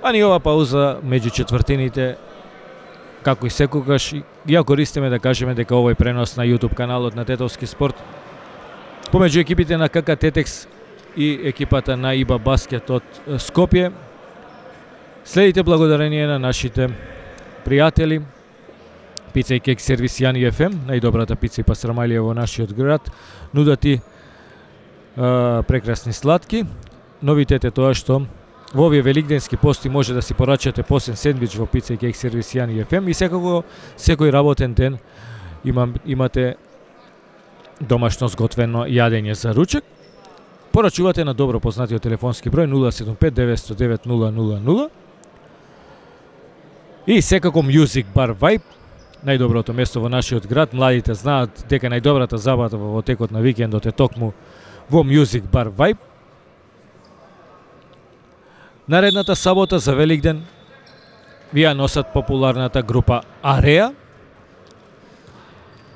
А ни ова пауза меѓу четвртините, како и секогаш, ја користиме да кажеме дека овој пренос на YouTube каналот на Тетовски спорт помеѓу екипите на КК Тетекс и екипата на ИБА Баскет од Скопје следите благодарение на нашите пријатели Пица и кек сервис Јани ФМ, најдобрата пица и пастрамалија во нашиот град, нудати прекрасни сладки. Новитет е тоа што во овие великденски пости може да си порачате посен сендвич во Пица и кек сервис Јани ФМ и секако секој работен ден имате домашно сготвено јадење за ручек. Порачувате на добро познатиот телефонски број 075 909 000 и секако Music Bar Vibe, најдоброто место во нашиот град. Младите знаат дека најдобрата забава во текот на викендот е токму во Music Bar Vibe. Наредната сабота за Великден ви ја носат популарната група Ареа.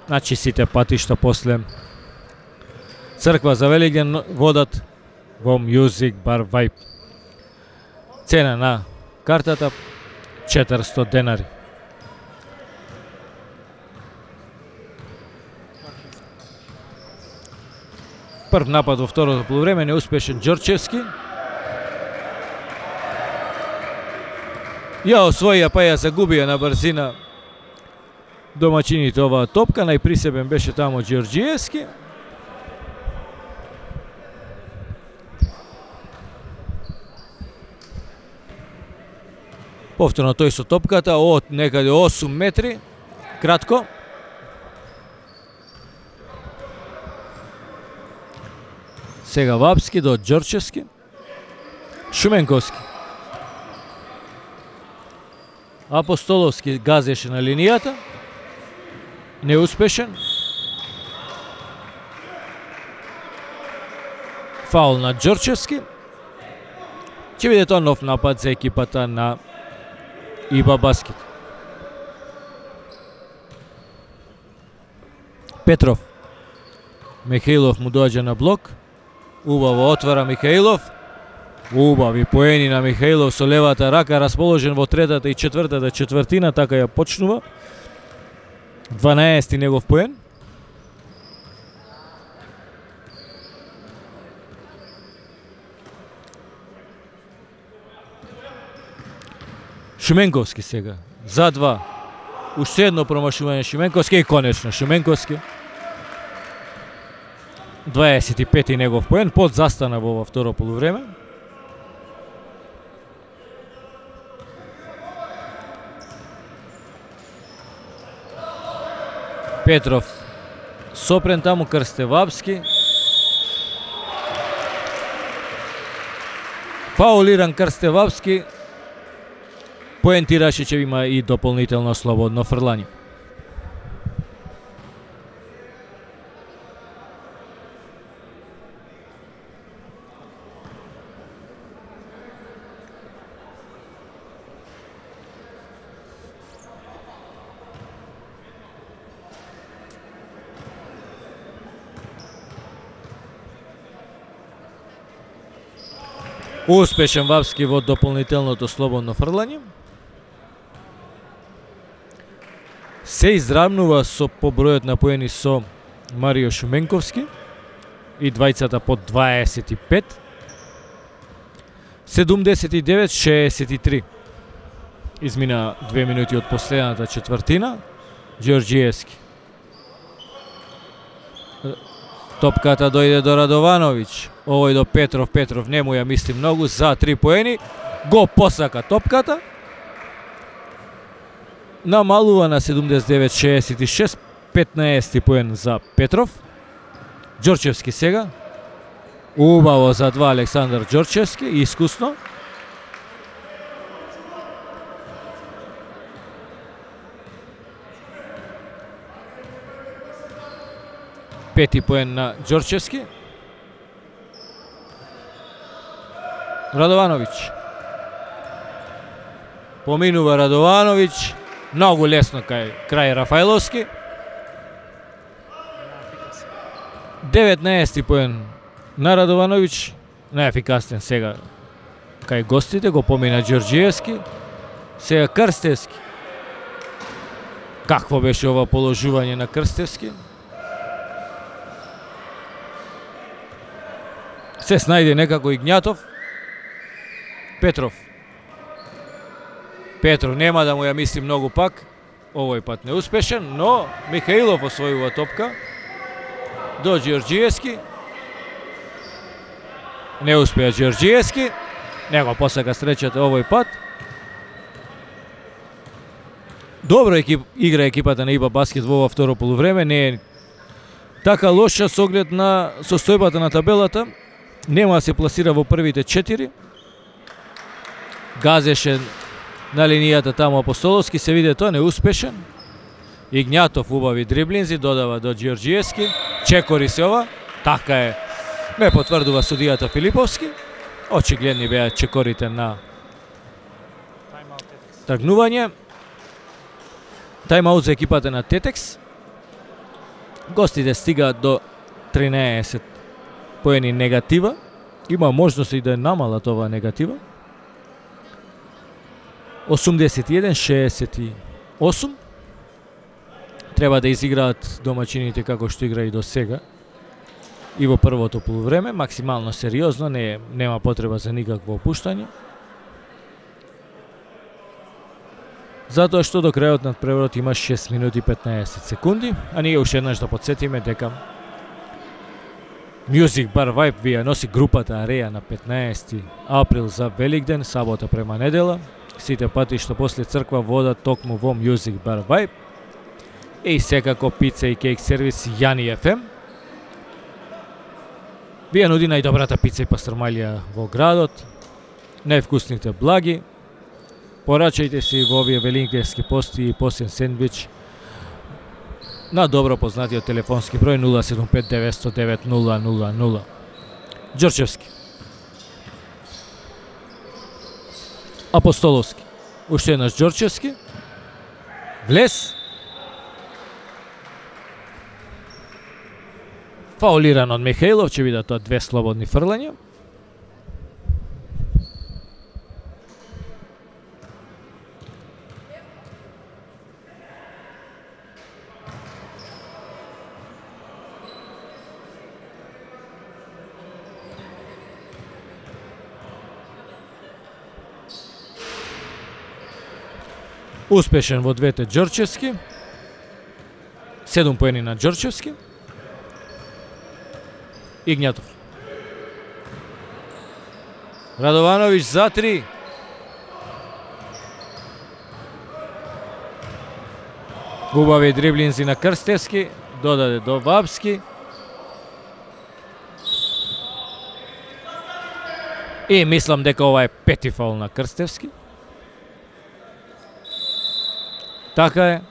Значи сите патишта после црква за Великден водат во Music Bar Vibe. Цена на картата 400 денари. Прв напад во второто полувреме, неуспешен Ѓорчевски. Ја освоија, па ја загубија на брзина домачините оваа топка. Најприсебен беше тамо Ѓорѓиевски. Повторно тој со топката од некаде 8 метри, кратко. Сега Вапски до Ѓорчевски. Шуменковски. Апостоловски газеше на линијата. Неуспешен. Фаул на Ѓорчевски. Ќе биде тоа нов напад за екипата на ИБА Баскет. Петров. Михаилов му доаѓа на блок. Убаво отвара Михаилов. Убави поени на Михаилов со левата рака, расположен во третата и четвртата четвртина, така ја почнува. 12 негов поен. Шуменковски сега, за 2. Уште едно промашување Шуменковски и конечно Шуменковски. 25 негов поен, под застана во второ полувреме. Петров сопрен таму, Крстевапски. Фаулиран Крстевапски. Поентираше че има и дополнително слободно фрлање. Успешен Вапски во дополнителното слободно фрлање. Се изравнува со побројот на поени со Марио Шуменковски и двајцата по 25. 79-63. Измина 2 минути од последната четвртина. Ѓорѓиевски. Топката дојде до Радовановиќ. Овој до Петров. Петров не му ја мисли многу за 3 поени. Го посака топката. Намалува на 79-66. 15 поен за Петров. Ѓорчевски сега. Убаво за 2 Александар Ѓорчевски. Искусно. Пети поен на Ѓорчевски. Радовановиќ. Поминува Радовановиќ. Многу лесно крај Рафајловски. 19 поен на Радовановиќ. Неефикасен сега кај гостите. Го помина Ѓорѓиевски. Сега Крстевски. Какво беше ова положување на Крстевски? Се снајде некако Игњатов. Петров. Петров нема да му ја мисли многу пак. Овој пат неуспешен, но Михаилов освојува топка. До Ѓорѓиевски. Не успеа Ѓорѓиевски. Него посака среќата овој пат. Добро игра екипата на ИБА Баскет во второ полувреме. Не е така лоша со оглед на состојбата на табелата. Нема да се пласира во првите 4. Газеше на линијата таму Апостоловски, се виде тоа неуспешен. Игњатов убави дриблинзи, додава до Ѓорѓиевски. Чекори се ова. Така е. Ме потврдува судијата Филиповски. Очигледни беа чекорите на тргнување. Тајмаут за екипата на Тетекс. Гостите стигаат до 13 поени негатива. Има можност и да намалат ова негатива. 81-68. Треба да изиграат домачините како што игра и до сега. И во првото полувреме, максимално сериозно, нема потреба за никакво опуштање. Затоа што до крајот на преворот има 6 минути 15 секунди, а ние уште еднаш да подсетиме дека Music Bar Vibe ви ја носи групата Ареја на 15 април за Великден, сабота према недела. Сите пати што после црква водат токму во Music Bar Vibe. И секако пица и кейк сервис Јани FM. Ви ја нуди најдобрата пица и пастрмалија во градот, највкусните благи. Порачајте си во овие великденски пости и посен сендвич на добро познатиот телефонски број 075 909 000. Ѓорчевски. Апостоловски. Уште еднаш Ѓорчевски. Влез. Фаулиран од Михаилов, ќе видат тоа 2 слободни фрлања. Успешен во двете Ѓорчевски. 7 поени на Ѓорчевски. Игњатов. Радовановиќ за 3. Убави дриблинзи на Крстевски, додаде до Вапски. И мислам дека ова е 5-ти фаул на Крстевски. Така е,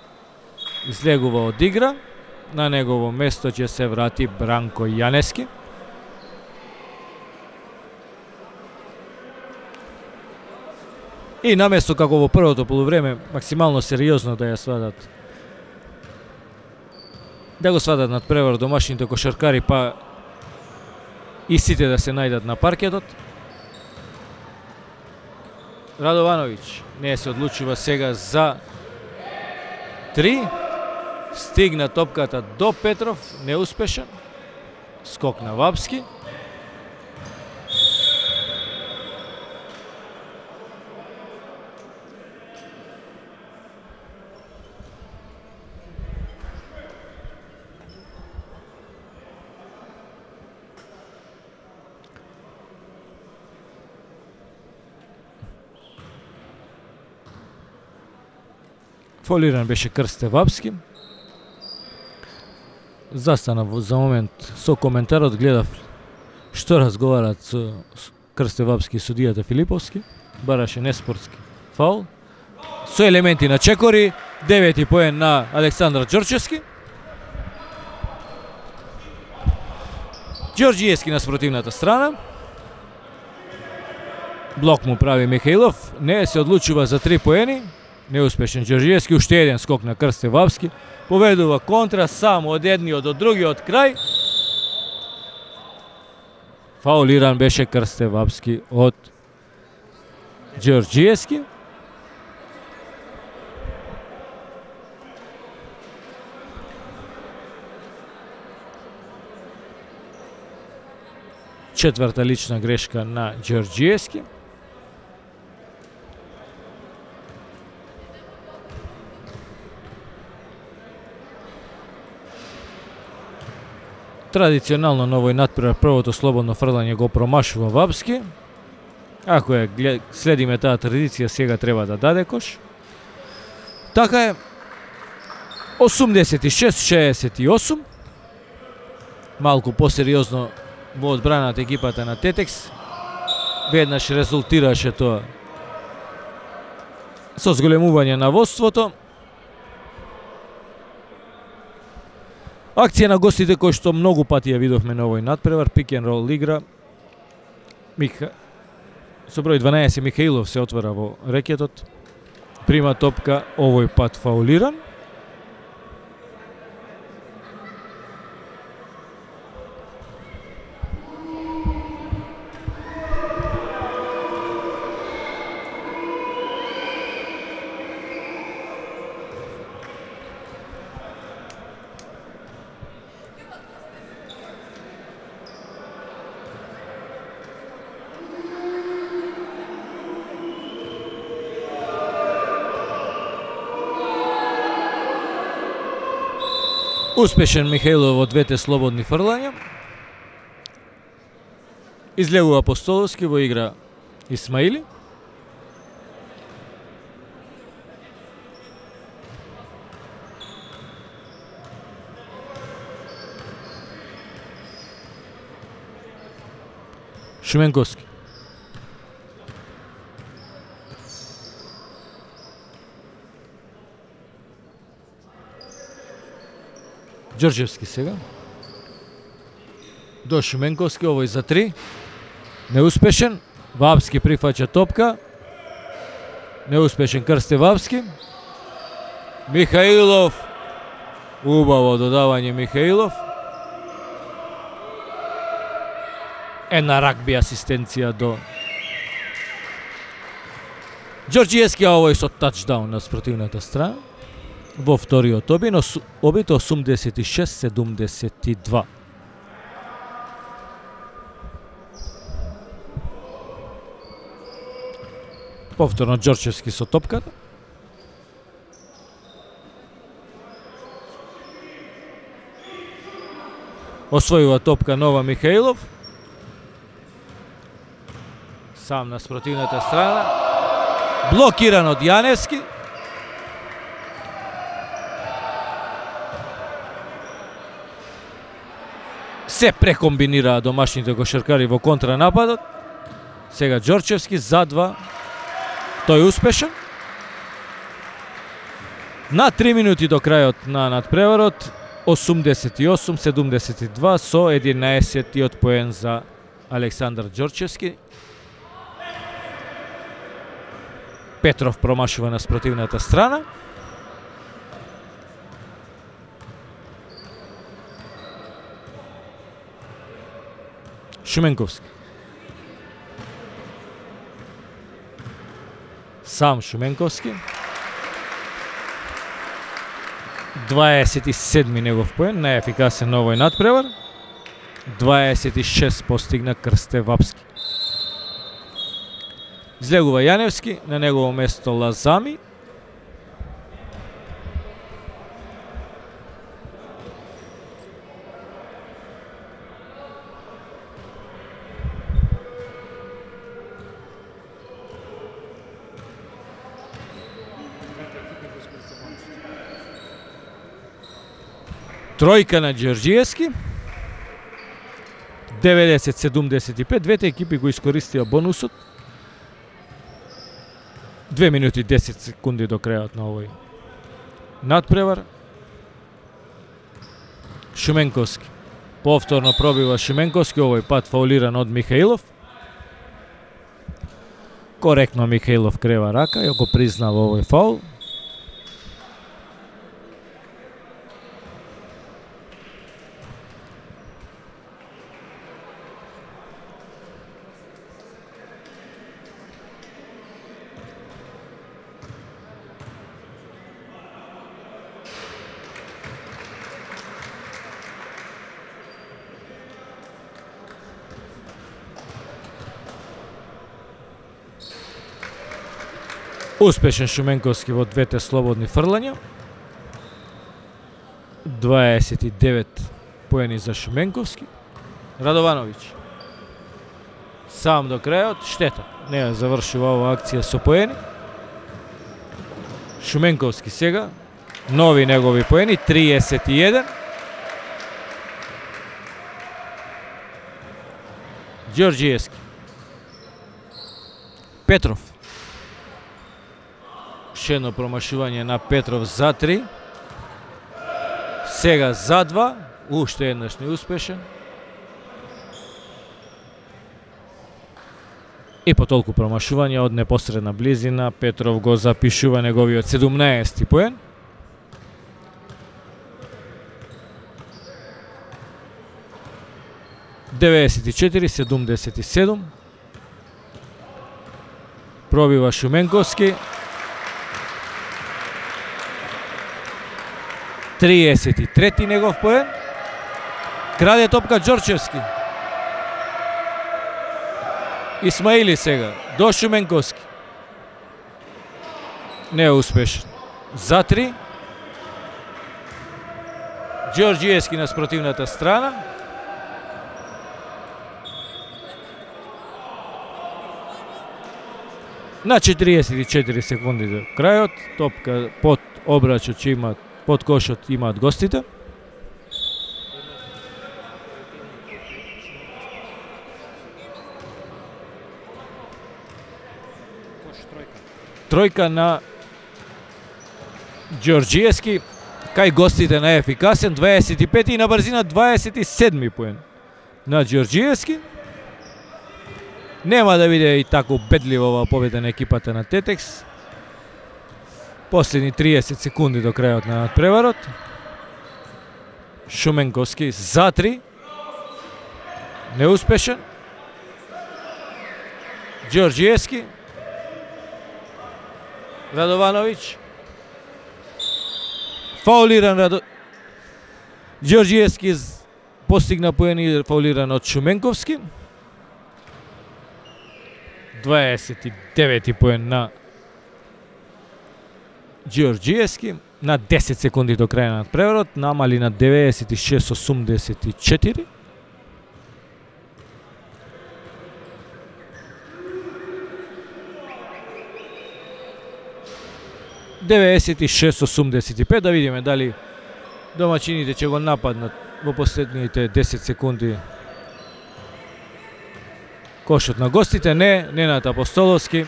излегува од игра, на негово место ќе се врати Бранко Јанески. И наместо како во првото полувреме максимално сериозно да ја сватат, да го сватат над превар домашните кошаркари, па и сите да се најдат на паркетот, Радовановиќ не се одлучува сега за 3. Стигна топката до Петров, неуспешен. Скок на Вапски. Фолиран беше Крсте Вапски. Застана за момент со коментарот, гледав што разговарат со Крсте Вапски и судијата Филиповски. Бараше неспортски фаул. Со елементи на чекори, 9 поен на Александар Ѓорчевски. Ѓорѓиевски на спротивната страна. Блок му прави Михаилов, не се одлучува за 3 поени. Неуспешен Ѓорѓиевски, уште еден скок на Крсте Вапски. Поведува контра само од едниот до другиот крај. Фаулиран беше Крсте Вапски од Ѓорѓиевски. Четврта лична грешка на Ѓорѓиевски. Традиционално на овој натпревар првото слободно фрлање го промашува Вапски. Ако следиме таа традиција, сега треба да даде кош. Така е, 86-68. Малку посериозно во одбраната екипата на Тетекс. Веднаш резултираше тоа со зголемување на водството. Акција на гостите кој што многу пати ја видовме на овој натпревар, пик н рол игра. Со број 12 Михаилов се отвара во рекетот. Прима топка, овој пат фаулиран. Успешен Михаилов во двете слободни фрлања. Излегува Апостоловски, во игра Исмаили. Шуменковски. Ѓорѓевски сега. До Шуменковски, овој за 3. Неуспешен. Вапски прифаќа топка. Неуспешен Крсте Вапски. Михаилов. Убаво додавање Михаилов. Една рагби асистенција до Ѓорѓиевски, а овој со тачдаун на спротивната страна. Во вториот обид 86-72. Повторно Ѓорчевски со топката. Освојува топка нова Михаилов. Сам на спротивната страна. Блокиран од Јаневски. Се прекомбинираа домашните кошаркари во контранападот. Сега Ѓорчевски за 2. Тој успешен. На 3 минути до крајот на надпреварот, 88-72 со 11-тиот поен за Александар Ѓорчевски. Петров промашува на спротивната страна. Шуменковски. сам Шуменковски. 27 негов поен, најефикасен на овој надпревар. 26 постигна Крсте Вапски. Излегува Јаневски, на негово место Лазами. Тројка на Ѓорѓиевски. 90-75, двете екипи го искористија бонусот. 2 минути 10 секунди до крајот на овој надпревар. Шуменковски. Повторно пробива Шуменковски, овој пат фаулиран од Михаилов. Коректно Михаилов крева рака и го признава овој фаул. Успешен Шуменковски во двете слободни фрлања. 29 поени за Шуменковски. Радовановиќ. Сам до крајот, штета. Не ја завршува ова акција со поени. Шуменковски сега. Нови негови поени, 31. Ѓорѓиевски. Петров. Ше едно промашување на Петров за 3. Сега за 2. Уште еднаш неуспешен. И по толку промашување од непосредна близина Петров го запишува неговиот 17-ти поен. (94-77). Пробива Шуменковски. 33-ти негов поен. Краде топка Ѓорчевски. Исмаили сега до Шуменковски. Не е успешен. За 3. Ѓорѓиевски на спротивната страна. На 44 секунди до крајот, топка под обрачот ќе имаат, под кошот имаат гостите. Тројка на Ѓорѓиевски, кај гостите најефикасен, 25 и на брзина 27 поен на Ѓорѓиевски. Нема да биде и тако убедлива оваа победа на екипата на Тетекс. Последни 30 секунди до крајот на надпреварот. Шуменковски за 3. Неуспешен. Ѓорѓиевски. Радовановиќ. Фаулиран Ѓорѓиевски постигна поени, фаулиран од Шуменковски. 29 поен на Ѓорѓиевски. На 10 секунди до крај на надпреварот, намали на 96-84. (96-85). Да видиме дали домачините ќе го нападнат во последните 10 секунди кошот на гостите. Не, Ненад Апостоловски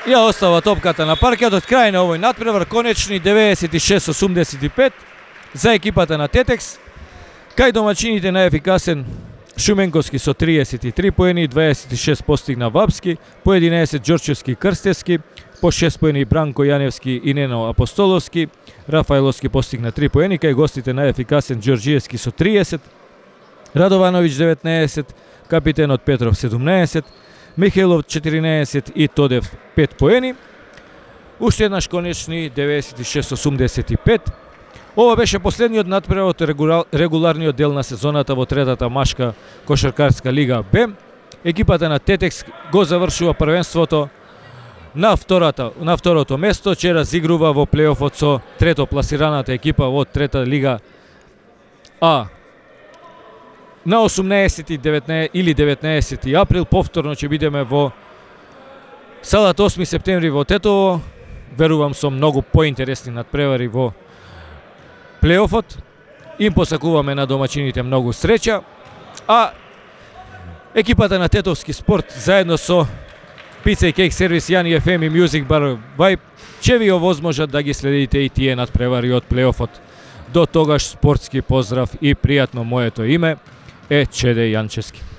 ја остава топката на паркетот. Крај на овој надпревар, конечни 96-85 за екипата на Тетекс. Кај домачините најефикасен Шуменковски со 33 поени, 26 постигна Вапски, по 11 Ѓорчевски и Крстевски, по 6 поени Бранко Јаневски и Нено Апостоловски. Рафаеловски постигна 3 поени, кај гостите најефикасен Ѓорѓиевски со 30, Радовановиќ 19, капитенот Петров 17, Михаилов 14 и Тодев 5 поени. Уште еднаш конечни 96-85. Ова беше последниот натпревар од регуларниот дел на сезоната во третата машка кошаркарска лига Б. Екипата на Тетекс го завршува првенството на второто место, че разигрува во плейофот со трето пласираната екипа во трета лига А. На 18 или 19 април повторно ќе бидеме во салата 8 септември во Тетово. Верувам со многу поинтересни надпревари во плейофот. Им посакуваме на домачините многу среќа, а екипата на Тетовски спорт заедно со Pizza и Cake сервис Јани FM и Music Bar Vibe ќе ви овозможат да ги следите и тие надпревари од плейофот. До тогаш спортски поздрав и пријатно, моето име е Чеде Јанчевски.